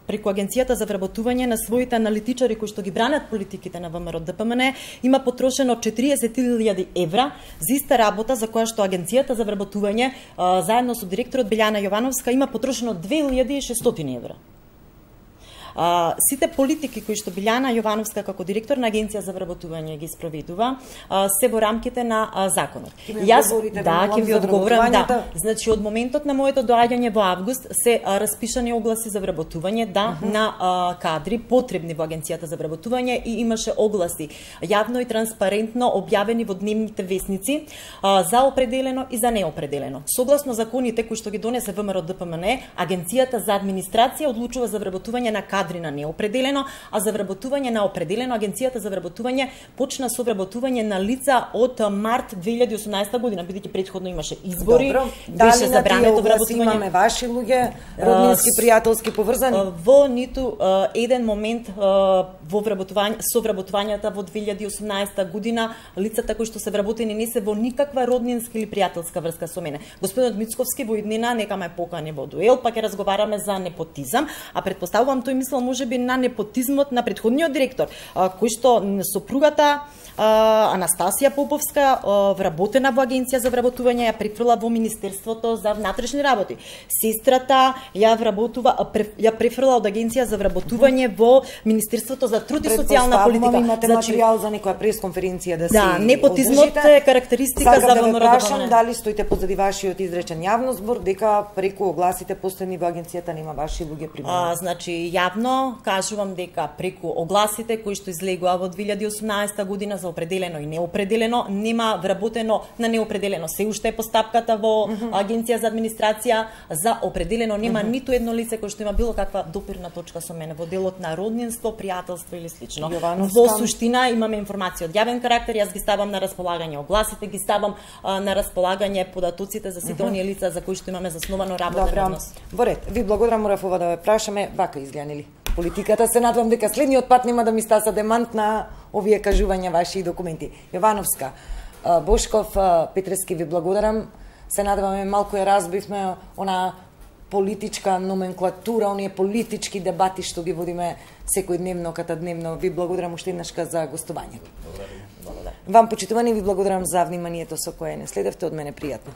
преку Агенцијата за вработување на своите аналитичари кои што ги бранат политиките на ВМРО Д П М Н има потрошено четириесет илјади евра за иста работа за која што Агенцијата за вработување заедно со директорот Билјана Јовановска има потрошено две илјади и шестстотини евра. А, сите политики кои што Билјана Јовановска како директор на Агенција за вработување ги спроведува а, се во рамките на а, законот.
Јас
да, ќе ви одговорам, да. Значи од моментот на моето доаѓање во август се а, распишани огласи за вработување, да, uh -huh. на а, кадри потребни во Агенцијата за вработување и имаше огласи јавно и транспарентно објавени во дневните весници а, за определено и за неопределено. Согласно законите кои што ги донесе ВМРО Д П М Н, Агенцијата за администрација одлучува за вработување на кадри на неопределено, а за вработување на определено Агенцијата за вработување почна со вработување на лица од март две илјади и осумнаесета година, бидејќи претходно имаше избори,
Добро.
беше забрането вработување.
Имаме ваши луѓе, роднински, пријателски поврзани?
Во ниту еден момент во вработување со вработувањата во две илјади и осумнаесета година лицата кои што се вработени не се во никаква роднинска или пријателска врска со мене. Господинот Мицковски во иднина нека ме покани во дуел, па ќе разговараме за непотизам, а претпоставувам тој мислел можеби на непотизмот на претходниот директор, кој што сопругата Анастасија Поповска, вработена во Агенција за вработување, ја префрла во Министерството за внатрешни работи. Сестрата ја вработува, ја префрла од Агенција за вработување во Министерството за труд и социјална политика.
Имате значи, материјал за некоја пресконференција да,
да
си
непотизмот е карактеристика за ВМРО.
Да ве прашам дали стоите позади вашиот изречен јавно збор дека преку огласите последни во агенцијата нема ваши луѓе примени.
А, значи јавно јавно кажувам дека преку огласите кои што излегува во две илјади и осумнаесета година за определено и неопределено, нема вработено на неопределено. Се уште е постапката во mm -hmm. Агенција за администрација, за определено нема mm -hmm. ниту едно лице кој што има било каква допирна точка со мене во делот на роднинство, пријателство или слично.
Јовановска...
Во суштина имаме информација од јавен карактер, јас ги ставам на располагање огласите, ги ставам а, на располагање податоците за сите mm -hmm. оние лица за кои што имаме заснувано работен однос.
Во ред, ви благодарам, морав ова да ве прашаме, вака изгледали политиката. Се надевам дека следниот пат нема да ми стаса демант на овие кажувања ваши документи. Јовановска, Бошков, Петрески, ви благодарам. Се надеваме малку ја разбивме она политичка номенклатура, оние политички дебати што ги водиме секојдневно, катадневно. Ви благодарам уште еднашка за гостување.
Благодарам.
Вам, почитувани, ви благодарам за вниманието со кое не следевте. Од мене пријатно.